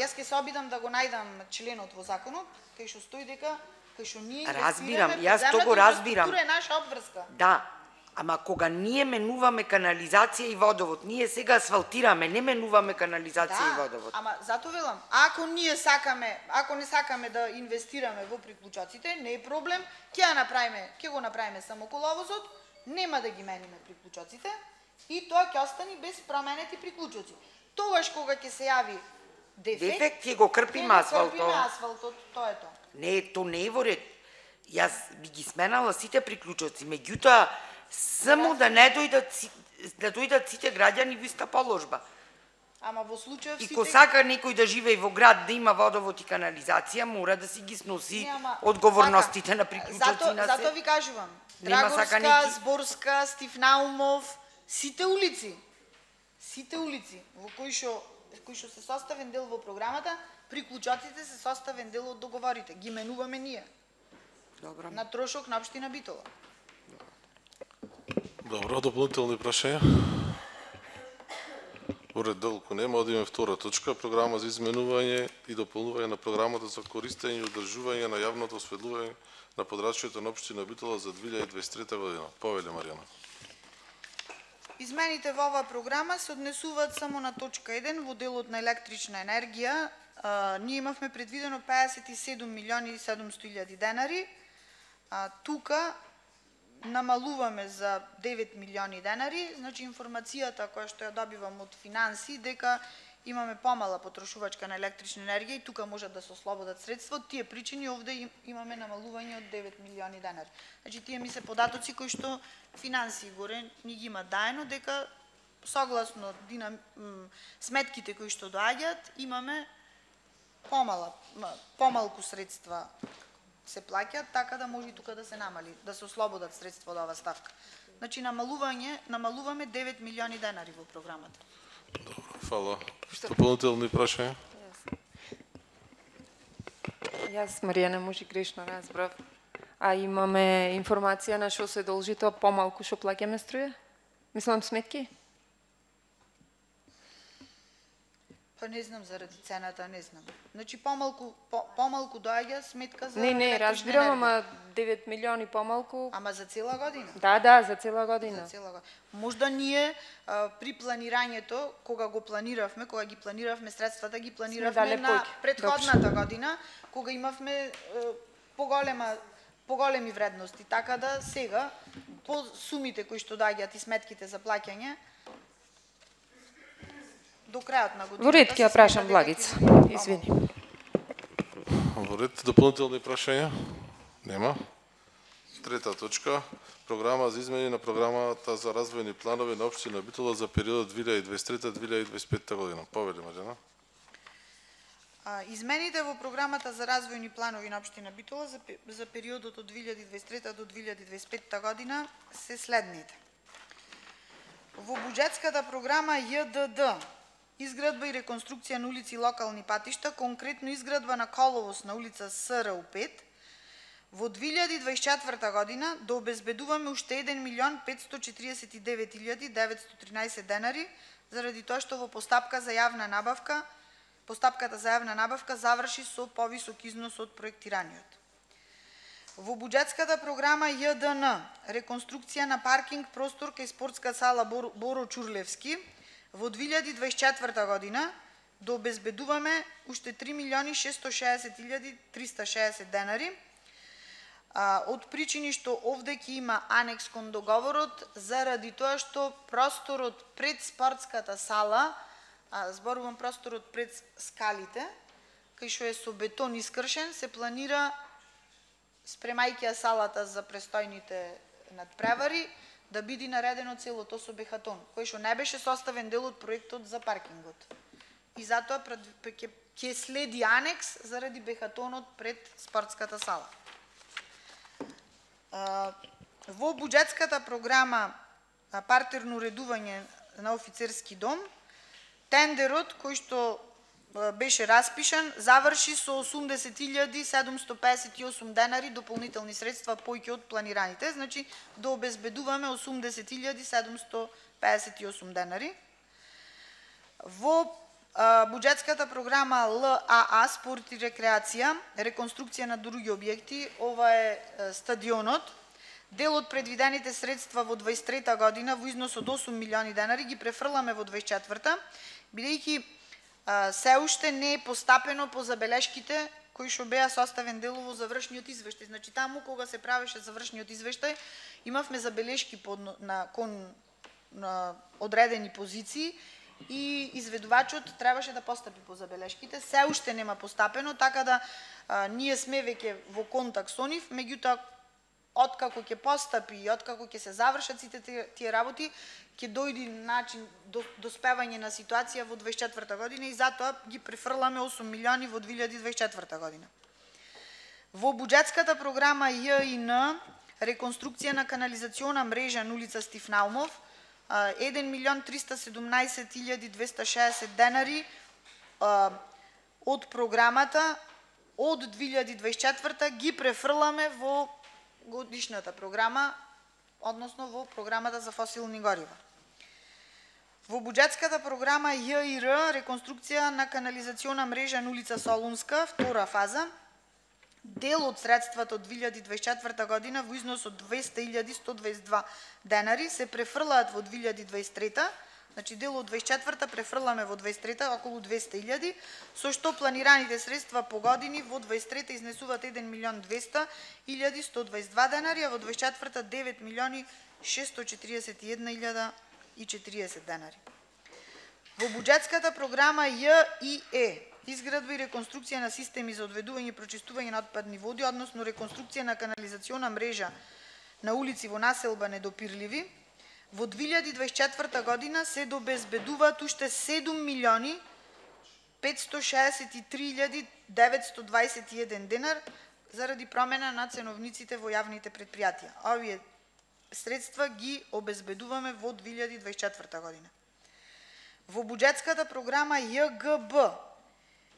јас ќе се обидам да го најдам членот во законот, кај што стои дека кај што ние разбирам, јас тоа го разбирам. Инфраструктура е наша обврска. Да, ама кога ние менуваме канализација и водовод, ние сега асфалтираме, не менуваме канализација и водовод. Ама зато велам, ако не сакаме да инвестираме во приклучоците, не е проблем, ќе го направиме само коловозот, нема да ги мениме приклучоците и тоа ќе остани без променети приклучоци. Тогаш кога ќе се јави дефект, ќе го крпиме асфалтот, тоа е тоа. Не, то не е во ред. Јас би ги сменала сите приклучоци, меѓутоа само да не дојдат сите граѓани во иста положба. Ама во случајов И ко сака некој да живее во град, да има водовод и канализација, мора да си ги сноси одговорностите на приклучоци на се. Зато ви кажувам, Драгорска, Зборска, Стифнаумов, сите улици во кои што се составен дел во програмата, приклучоците се составен дел од договорите. Ги менуваме ние. Добро. На трошок на општина Битола. Добро, дополнителни прашања? Уред долку нема, одиме втора точка, програма за изменување и дополнување на програмата за користење и одржување на јавното осветлување на подрачјето на општина Битола за 2023 година. Повеле, Маријана. Измените во оваа програма се однесуваат само на точка 1 во делот на електрична енергија. Ние имавме предвидено 57 милиони и 700 илјади денари. Тука намалуваме за 9 милиони денари, значи информацијата која што ја добивам од финанси дека имаме помала потрошувачка на електрична енергија и тука можат да се ослободат средства. Од тие причини овде имаме намалување од 9 милиони денари. Значи тие ми се податоци кои што финанси горе ни ги има даено дека согласно сметките кои што доаѓаат имаме помалку средства се плаќаат, така да може и тука да се намали, да се ослободат средства од оваа ставка. Значи намалуваме 9 милиони денари во програмата. Добро, фала. Дополнителни прашања? Јас, Маријана, може грешно разбрав. А имаме информација на што се должи тоа помалку што плаќаме струја? Мислам сметки? Па не знам заради цената, не знам. Значи помалку доаѓа сметка за Не, разбирам, ама 9 милиони помалку. Ама за цела година? Да, за цела година. За цела година. Можда ние при планирањето, кога ги планиравме средствата, ги планиравме на претходната година, кога имавме поголеми вредности, така да сега по сумите кои што доаѓаат и сметките за плаќање до крајот на годината. Во ред ќе ја прашам Благица. Извини. Во ред, дополнителни прашања? Нема. Трета точка, програма за измени на програмата за развојни планови на општина Битола за периодот 2023-2025 година. Поведе, Маријана. Измените во програмата за развојни планови на општина Битола за периодот од 2023 до 2025 година се следните. Во буџетската програма ЈДД изградба и реконструкција на улици и локални патишта, конкретно изградба на коловоз на улица СРУ 5, во 2024 година да обезбедуваме уште 1.549.913 денари, заради тоа што во постапката за јавна набавка заврши со повисок износ од проектираниот. Во буџетската програма ЈДН реконструкција на паркинг простор кај спортска сала Боро Чурлевски, во 2024 година да обезбедуваме уште 3.660.360 денари, од причини што овде ќе има анекс кон договорот, заради тоа што просторот пред спортската сала, зборувам просторот пред скалите, кај што е со бетон искршен, се планира, спремајќи ја салата за престојните надпревари, да биде наредено целото со бехатон, кој што не беше составен дел од проектот за паркингот. И затоа ќе следи анекс заради бехатонот пред спортската сала. Во буџетската програма партерно уредување на офицерски дом, тендерот кој што беше распишан заврши со 80.758 денари дополнителни средства поќе од планираните, значи да обезбедуваме 80.758 денари. Во буџетската програма ЛАА спорт и рекреација, реконструкција на други објекти, ова е стадионот. Дел од предвидените средства во 23-та година во износ од 8 милиони денари ги префрламе во 24-та, бидејќи се уште не е постапено по забелешките кои што беа составен дел во завршниот извештај. Значи таму кога се правеше завршниот извештај, имавме забелешки кон одредени позиции и изведувачот требаше да постапи по забелешките. Се уште нема постапено, така да ние сме веќе во контакт со нив, меѓутоа откако ќе постапи и откако ќе се завршат сите тие работи, ќе дојде начин до спевање на ситуација во 24-та година и затоа ги префрламе 8 милиони во 2024 година. Во буџетската програма ЈИН реконструкција на канализациона мрежа на улица Стив Наумов, 1.317.260 денари од програмата од 2024 ги префрламе во годишната програма, односно во програмата за фосилни горива. Во буџетската програма ЈИР реконструкција на канализациона мрежа на улица Солунска, втора фаза, дел од средствата од 2024 година во износ од 200.122 денари се префрлаат во 2023, значи дел од 24-та префрламе во 23-та околу 200.000, со што планираните средства по години во 23-та изнесуваат 1.200.122 денари, а во 24-та 9.641.040 денари. Во буџетската програма ЈИЕ изградба и реконструкција на системи за одведување и прочистување на отпадни води, односно реконструкција на канализациона мрежа на улици во населба Недопирливи, во 2024 година се добезбедуваат уште 7.563.921 денар заради промена на ценовниците во јавните предпријатија. Овие средства ги обезбедуваме во 2024 година. Во буџетската програма ЈГБ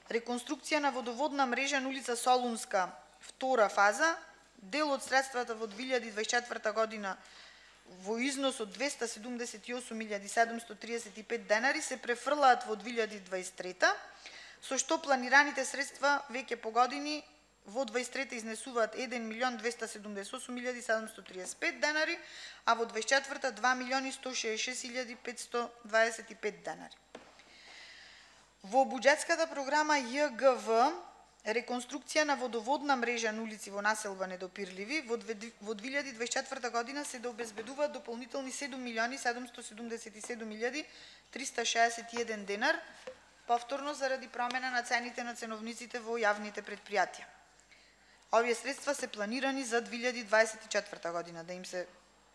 реконструкција на водоводна мрежа на улица Солунска, втора фаза, дел од средствата во 2024 година во износ од 278.735 денари се префрлаат во 2023, со што планираните средства веќе по години во 23 изнесуваат 1.278.735 денари, а во 24 2.166.525 денари. Во буџетската програма ЈГВ реконструкција на водоводна мрежа на улици во населба Недопирливи во 2024 година се да обезбедуваат дополнителни 7.777.361 денар, повторно заради промена на цените на ценовниците во јавните предпријатија. Овие средства се планирани за 2024 година да им се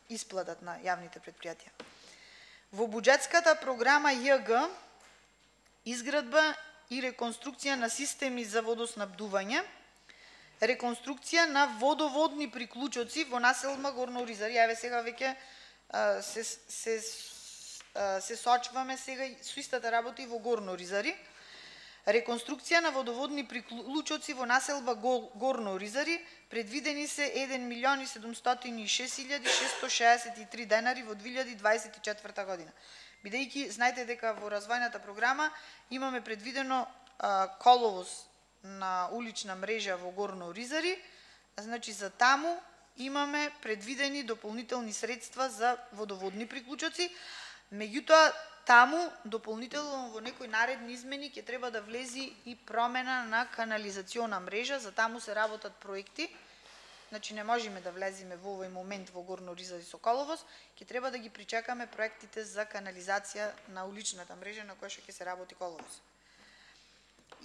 исплатат на јавните предпријатија. Во буџетската програма ЈГ изградба и реконструкција на системи за водоснабдување, реконструкција на водоводни приклучоци во населба Горно Оризари. Еве сега веќе се сочваме сега со истата работа и во Горно Оризари. Реконструкција на водоводни приклучоци во населба Горно Оризари, предвидени се 1.706.663 денари во 2024 година. Бидејќи знаете дека во развојната програма имаме предвидено коловоз на улична мрежа во Горно Оризари, значи за таму имаме предвидени дополнителни средства за водоводни приклучоци. Меѓутоа таму дополнително во некои наредни измени ќе треба да влези и промена на канализациона мрежа, за таму се работат проекти. Значи не можеме да влеземе во овој момент во Горно Оризари со коловоз, ќе треба да ги причекаме проектите за канализација на уличната мрежа на која што ќе се работи коловоз.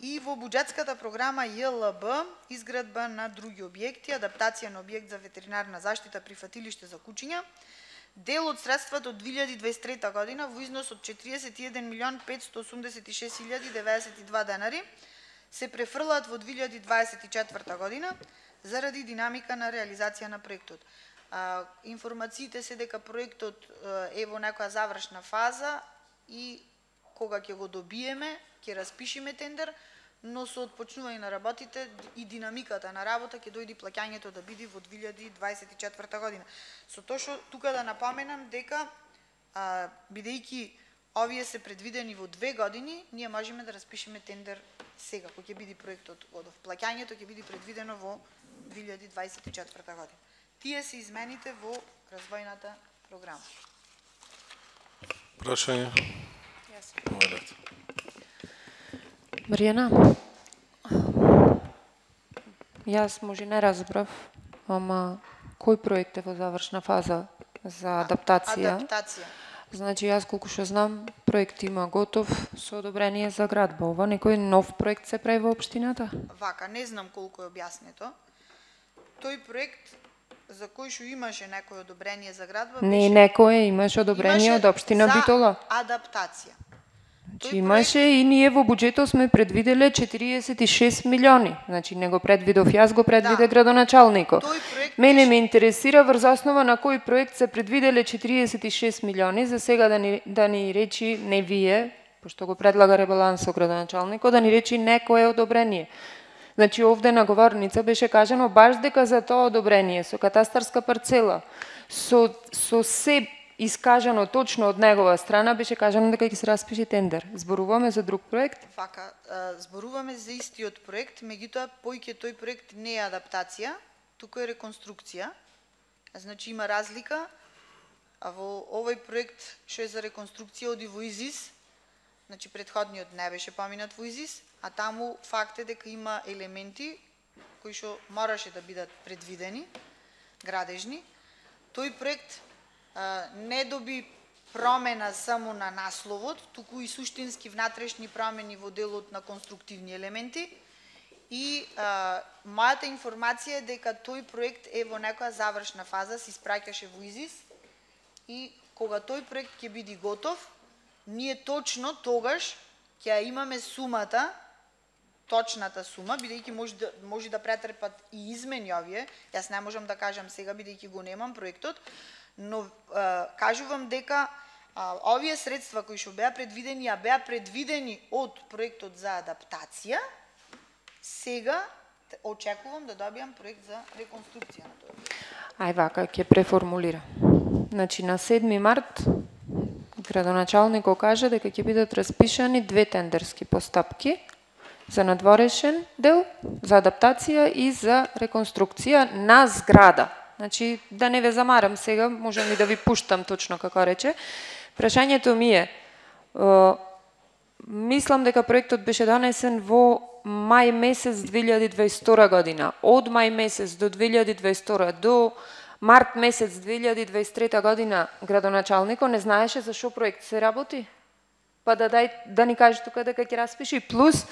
И во буџетската програма ЈЛБ изградба на други објекти, адаптација на објект за ветеринарна заштита прифатилиште за кучиња, дел од средствата од 2023 година во износ од 41.586.092 денари се префрлаат во 2024 година заради динамика на реализација на проектот. Информациите се дека проектот е во некоја завршна фаза и кога ќе го добиеме, ќе распишеме тендер, но со отпочнување на работите и динамиката на работа ќе дојде плаќањето да биде во 2024 година. Со тоа што тука да напоменам дека бидејќи овие се предвидени во 2 години, ние можеме да распишеме тендер сега, кој ќе биде проектот годов. Плаќањето ќе биде предвидено во 2024 година. Тие се измените во развојната програма. Прашање? Маријана, јас може не разбрав, ама кој проект е во завршна фаза за адаптација? Адаптација. Значи, јас колку што знам, проект има готов со одобрение за градба. Ова некој нов проект се прави во општината? Вака, не знам колку е објаснето. Тој проект за кој што имаше некој одобрение за градба, Не некој имаше одобрение од општина Битола. Адаптација. Значи, имаше и ние во буџетот сме предвиделе 46 милиони. Значи, не го предвидов јас, го предвиде градоначалникот. Мене ме интересира врз основа на кој проект се предвиделе 46 милиони, за сега да ни речи, не вие, пошто го предлага ребалансот градоначалникот, да ни речи некое одобрение. Значи, овде на говорница беше кажано баш дека за тоа одобрение, со катастарска парцела, со се искажано точно од негова страна, беше кажано дека ќе се распише тендер. Зборуваме за друг проект? Вака, зборуваме за истиот проект, меѓутоа поиќе тој проект не е адаптација, туку е реконструкција. Значи има разлика, а во овој проект што е за реконструкција оди во ИЗИС, значи претходниот не беше поминат во ИЗИС, а таму факт е дека има елементи кои што мораше да бидат предвидени, градежни. Тој проект не доби промена само на насловот, туку и суштински внатрешни промени во делот на конструктивни елементи. И мојата информација е дека тој проект е во некоја завршна фаза, се испраќаше во ИЗИС и кога тој проект ќе биде готов, ние точно тогаш ќе имаме сумата, точната сума, бидејќи може да претрпат и измени овие. Јас не можам да кажам сега, бидејќи го немам проектот, но кажувам дека овие средства кои што беа предвидени, а беа предвидени од проектот за адаптација, сега очекувам да добијам проект за реконструкција на тоа. Ај вака, ќе преформулира. Значи, на 7 март градоначалникот кажа дека ќе бидат распишани 2 тендерски постапки за надворешен дел, за адаптација и за реконструкција на зграда. Значи, да не ве замарам сега, можам и да ви пуштам точно како рече. Прашањето ми е, мислам дека проектот беше донесен во мај месец 2022 година. Од мај месец до 2022 до март месец 2023 година градоначалникот не знаеше за што проект се работи? Па да ни каже тука дека ќе распиши. Плюс,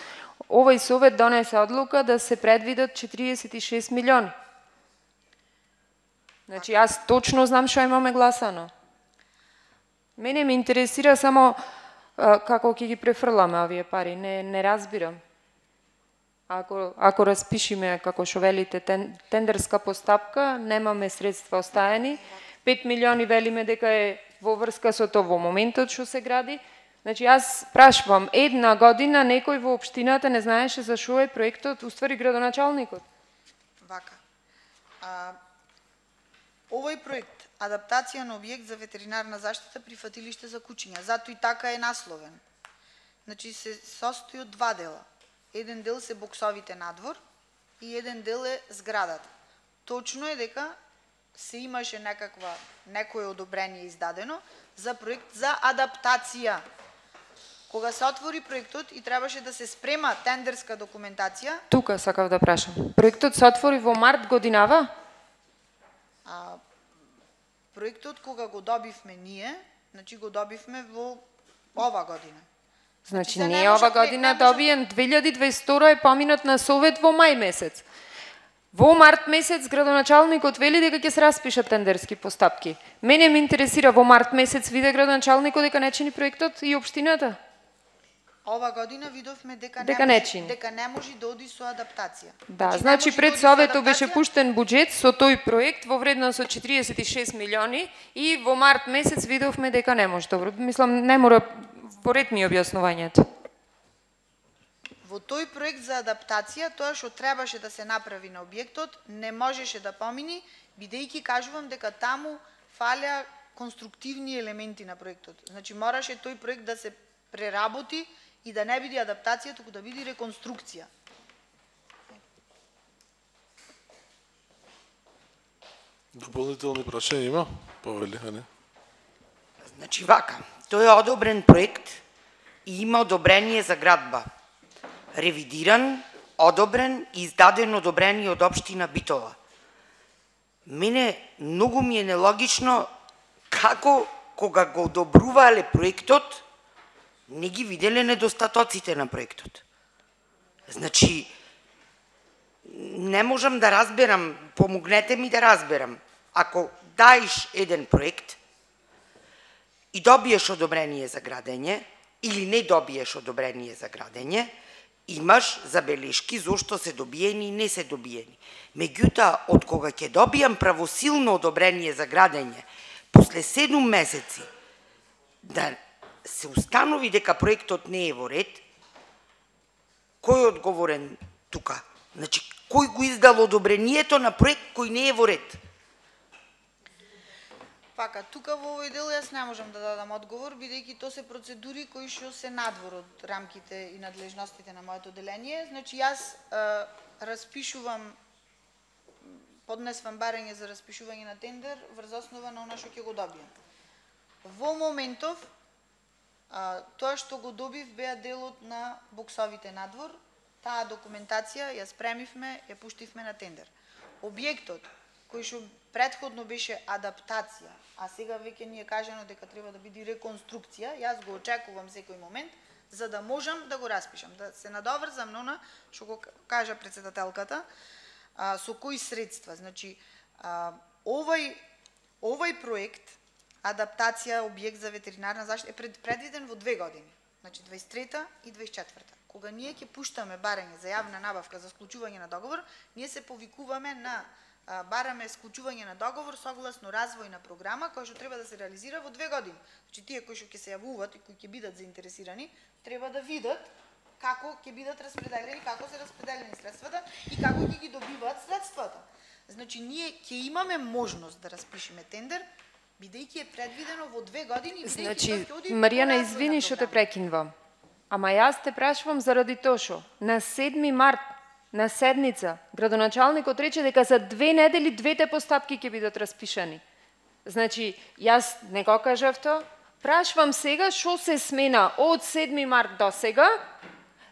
овој совет донесе одлука да се предвидат 46 милиони. Значи, јас точно знам што имаме гласано. Мене ме интересира само како ќе ги префрламе овие пари, не разбирам. Ако распишиме, како што велите, тендерска постапка, немаме средства остаени, 5 милиони велиме дека е во врска со тоа во моментот што се гради. Значи, јас прашувам, една година некој во општината не знаеше за што е проектот, уствари градоначалникот. Вака. Овој проект, адаптација на објект за ветеринарна заштита прифатилиште за кучиња, затоа и така е насловен. Значи, се состои од 2 дела. Еден дел се боксовите надвор и еден дел е зградата. Точно е дека се имаше некое одобрение издадено за проект за адаптација. Кога се отвори проектот и требаше да се спрема тендерска документација. Тука сакав да прашам. Проектот се отвори во март годинава? Проектот кога го добивме ние, значи го добивме во ова година. Значи не ова година добиен, 2022 е поминат на совет во мај месец. Во март месец градоначалникот вели дека ќе се распишат тендерски постапки. Мене ме интересира во март месец виде градоначалникот дека не чини проектот и општината? Ова година видовме дека не може да оди со адаптација. Да, значи пред советот беше пуштен буџет со тој проект во вредност од 46 милиони и во март месец видовме дека не може. Добро, мислам не мора во ред ми објаснувањето. Во тој проект за адаптација, тоа што требаше да се направи на објектот, не можеше да помини, бидејќи кажувам дека таму фаля конструктивни елементи на проектот. Значи мораше тој проект да се преработи и да не биде адаптација, туку да биде реконструкција. Дополнителни прашања има? Повели, а не? Значи вака, тој е одобрен проект и има одобрение за градба. Ревидиран, одобрен и издаден одобрение од општина Битола. Мене многу ми е нелогично како кога го одобрувале проектот, не ги виделе недостатоците на проектот. Значи, не можам да разберам, помогнете ми да разберам. Ако даеш еден проект и добиеш одобрение за градење, или не добиеш одобрение за градење, имаш забелешки зошто се добиени и не се добиени. Меѓутоа, од кога ќе добијам правосилно одобрение за градење, после 7 месеци, да се установи дека проектот не е во ред, кој е одговорен тука? Значи, кој го издал одобрението на проект кој не е во ред? Пака, тука во овој дел јас не можам да дадам одговор, бидејќи тоа се процедури кои што се надвор од рамките и надлежностите на моето одделение. Значи, јас поднесвам барање за распишување на тендер врз основа на она што ќе го добијам. Во моментов, тоа што го добив беа делот на боксовите надвор, таа документација ја спремивме, ја пуштивме на тендер. Објектот кој што претходно беше адаптација, а сега веќе ни е кажано дека треба да биде реконструкција, јас го очекувам секој момент за да можам да го распишам, да се надоврзам на она што го кажа претседателката, со кои средства. Значи, овој проект адаптација објект за ветеринарна заштита е предвиден во 2 години, значи 23-та и 24-та. Кога ние ќе пуштаме барање за јавна набавка за склучување на договор, ние се повикуваме на бараме склучување на договор согласно развојна програма која што треба да се реализира во 2 години. Значи тие кои што ќе се јавуваат и кои ќе бидат заинтересирани, треба да видат како ќе бидат распределени, како се распределени средствата и како ќе ги добиваат средствата. Значи ние ќе имаме можност да распишеме тендер, бидејќи е предвидено во 2 години. Значи, Маријана, извини што те прекинувам. Ама јас те прашувам заради тоа што на 7 март на седница градоначалникот рече дека за 2 недели двете постапки ќе бидат распишани. Значи, јас не го кажав тоа. Прашвам сега што се смена од 7 март до сега,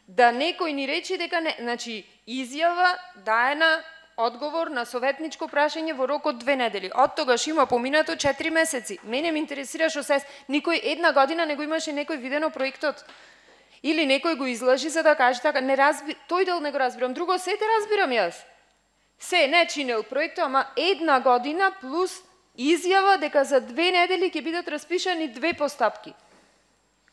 да некој ни рече дека не, значи изјава даена одговор на советничко прашање во рок од 2 недели. Од тогаш има поминато 4 месеци. Мене ме интересира што се никој една година не го имаше некој видено проектот. Или некој го излажи за да каже така, не тој дел не го разбирам, друго се те разбирам јас. Се не чинел проектот, ама една година плюс изјава дека за 2 недели ќе бидат распишани 2 постапки.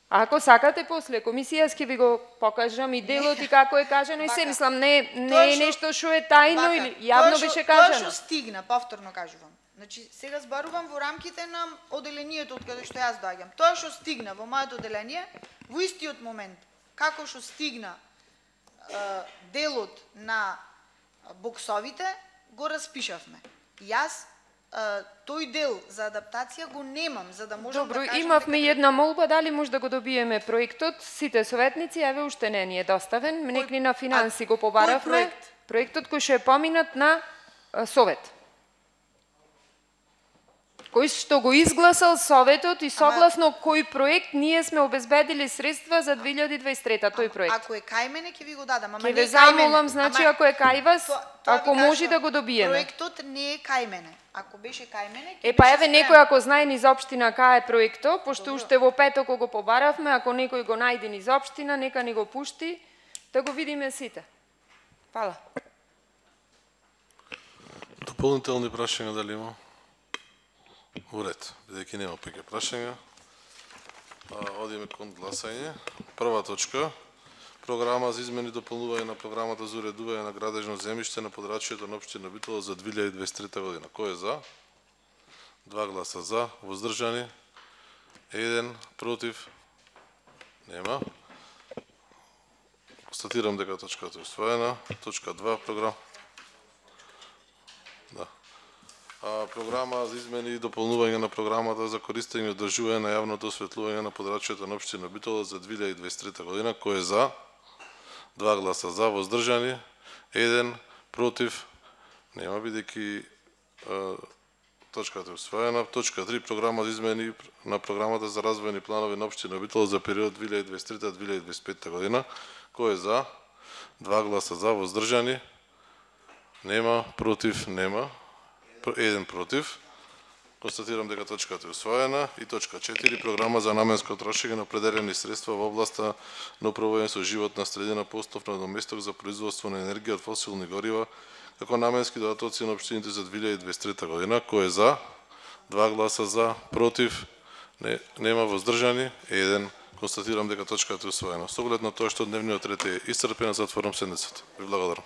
А ако сакате после комисија, јас ќе ви го покажам и делот и како е кажано и се, мислам, не е нешто што е тајно или јавно беше кажано. Тоа што стигна, повторно кажувам. Значи, сега зборувам во рамките на одделението од каде што јас доаѓам. Тоа што стигна во моето одделение, во истиот момент, како што стигна делот на боксовите, го распишавме. Јас тој дел за адаптација го немам, за да можам да кажам... Добро, имавме една молба, дали може да го добиеме проектот, сите советници, еве уште не ни е доставен, некни на финанси го побаравме. Кој проект? Проектот кој што е поминат на совет. кој што го изгласал Советот и согласно кој проект ние сме обезбедили средства за 2023 тој проект. Ако е кај мене ќе ви го дадам, ама Ќе не ве е кај мене. замолам, значи ако е кај вас, ако може да го добиеме. Проектот не е кај мене. Ако беше кај мене, Па еве некој ако знае низ општина кај е проектот, пошто уште во петок го побаравме, ако некој го најде низ општина, нека ни го пушти да го видиме сите. Фала. Дополнителни прашања дали има? Уред, бидејќи нема повеќе прашања, одиме кон гласање. Прва точка, програма за измени и дополнување на програмата за уредување на градежно земјиште на подрачјето на општина Битола за 2023 година. Кој е за? 2 гласа за, воздржани, 1 против, нема. Констатирам дека точката е усвоена. Точка 2, програма. Да. Програма за измени и дополнување на програмата за користење и одржување на јавното осветлување на подрачјето на општина Битола за 2023 година. Кој е за? 2 гласа за, воздржани, 1 против, нема, бидејќи точката е усвоена. Точка 3, програма за измени на програмата за развојни планови на општина Битола за период 2023-2025 година. Кој е за? 2 гласа за, воздржани, нема, против, нема, 1 против. Констатирам дека точката е усвоена. И точка 4, програма за наменско трошење на определени средства во областа на управување со животна средина по основ на доместок за производство на енергија од фосилни горива како наменски додатоци на општините за 2023 година. Кој е за? 2 гласа за, против, нема, воздржани, 1. Констатирам дека точката е усвоена. Со оглед на тоа што дневниот ред е исцрпен, затворам седницата. Ви благодарам.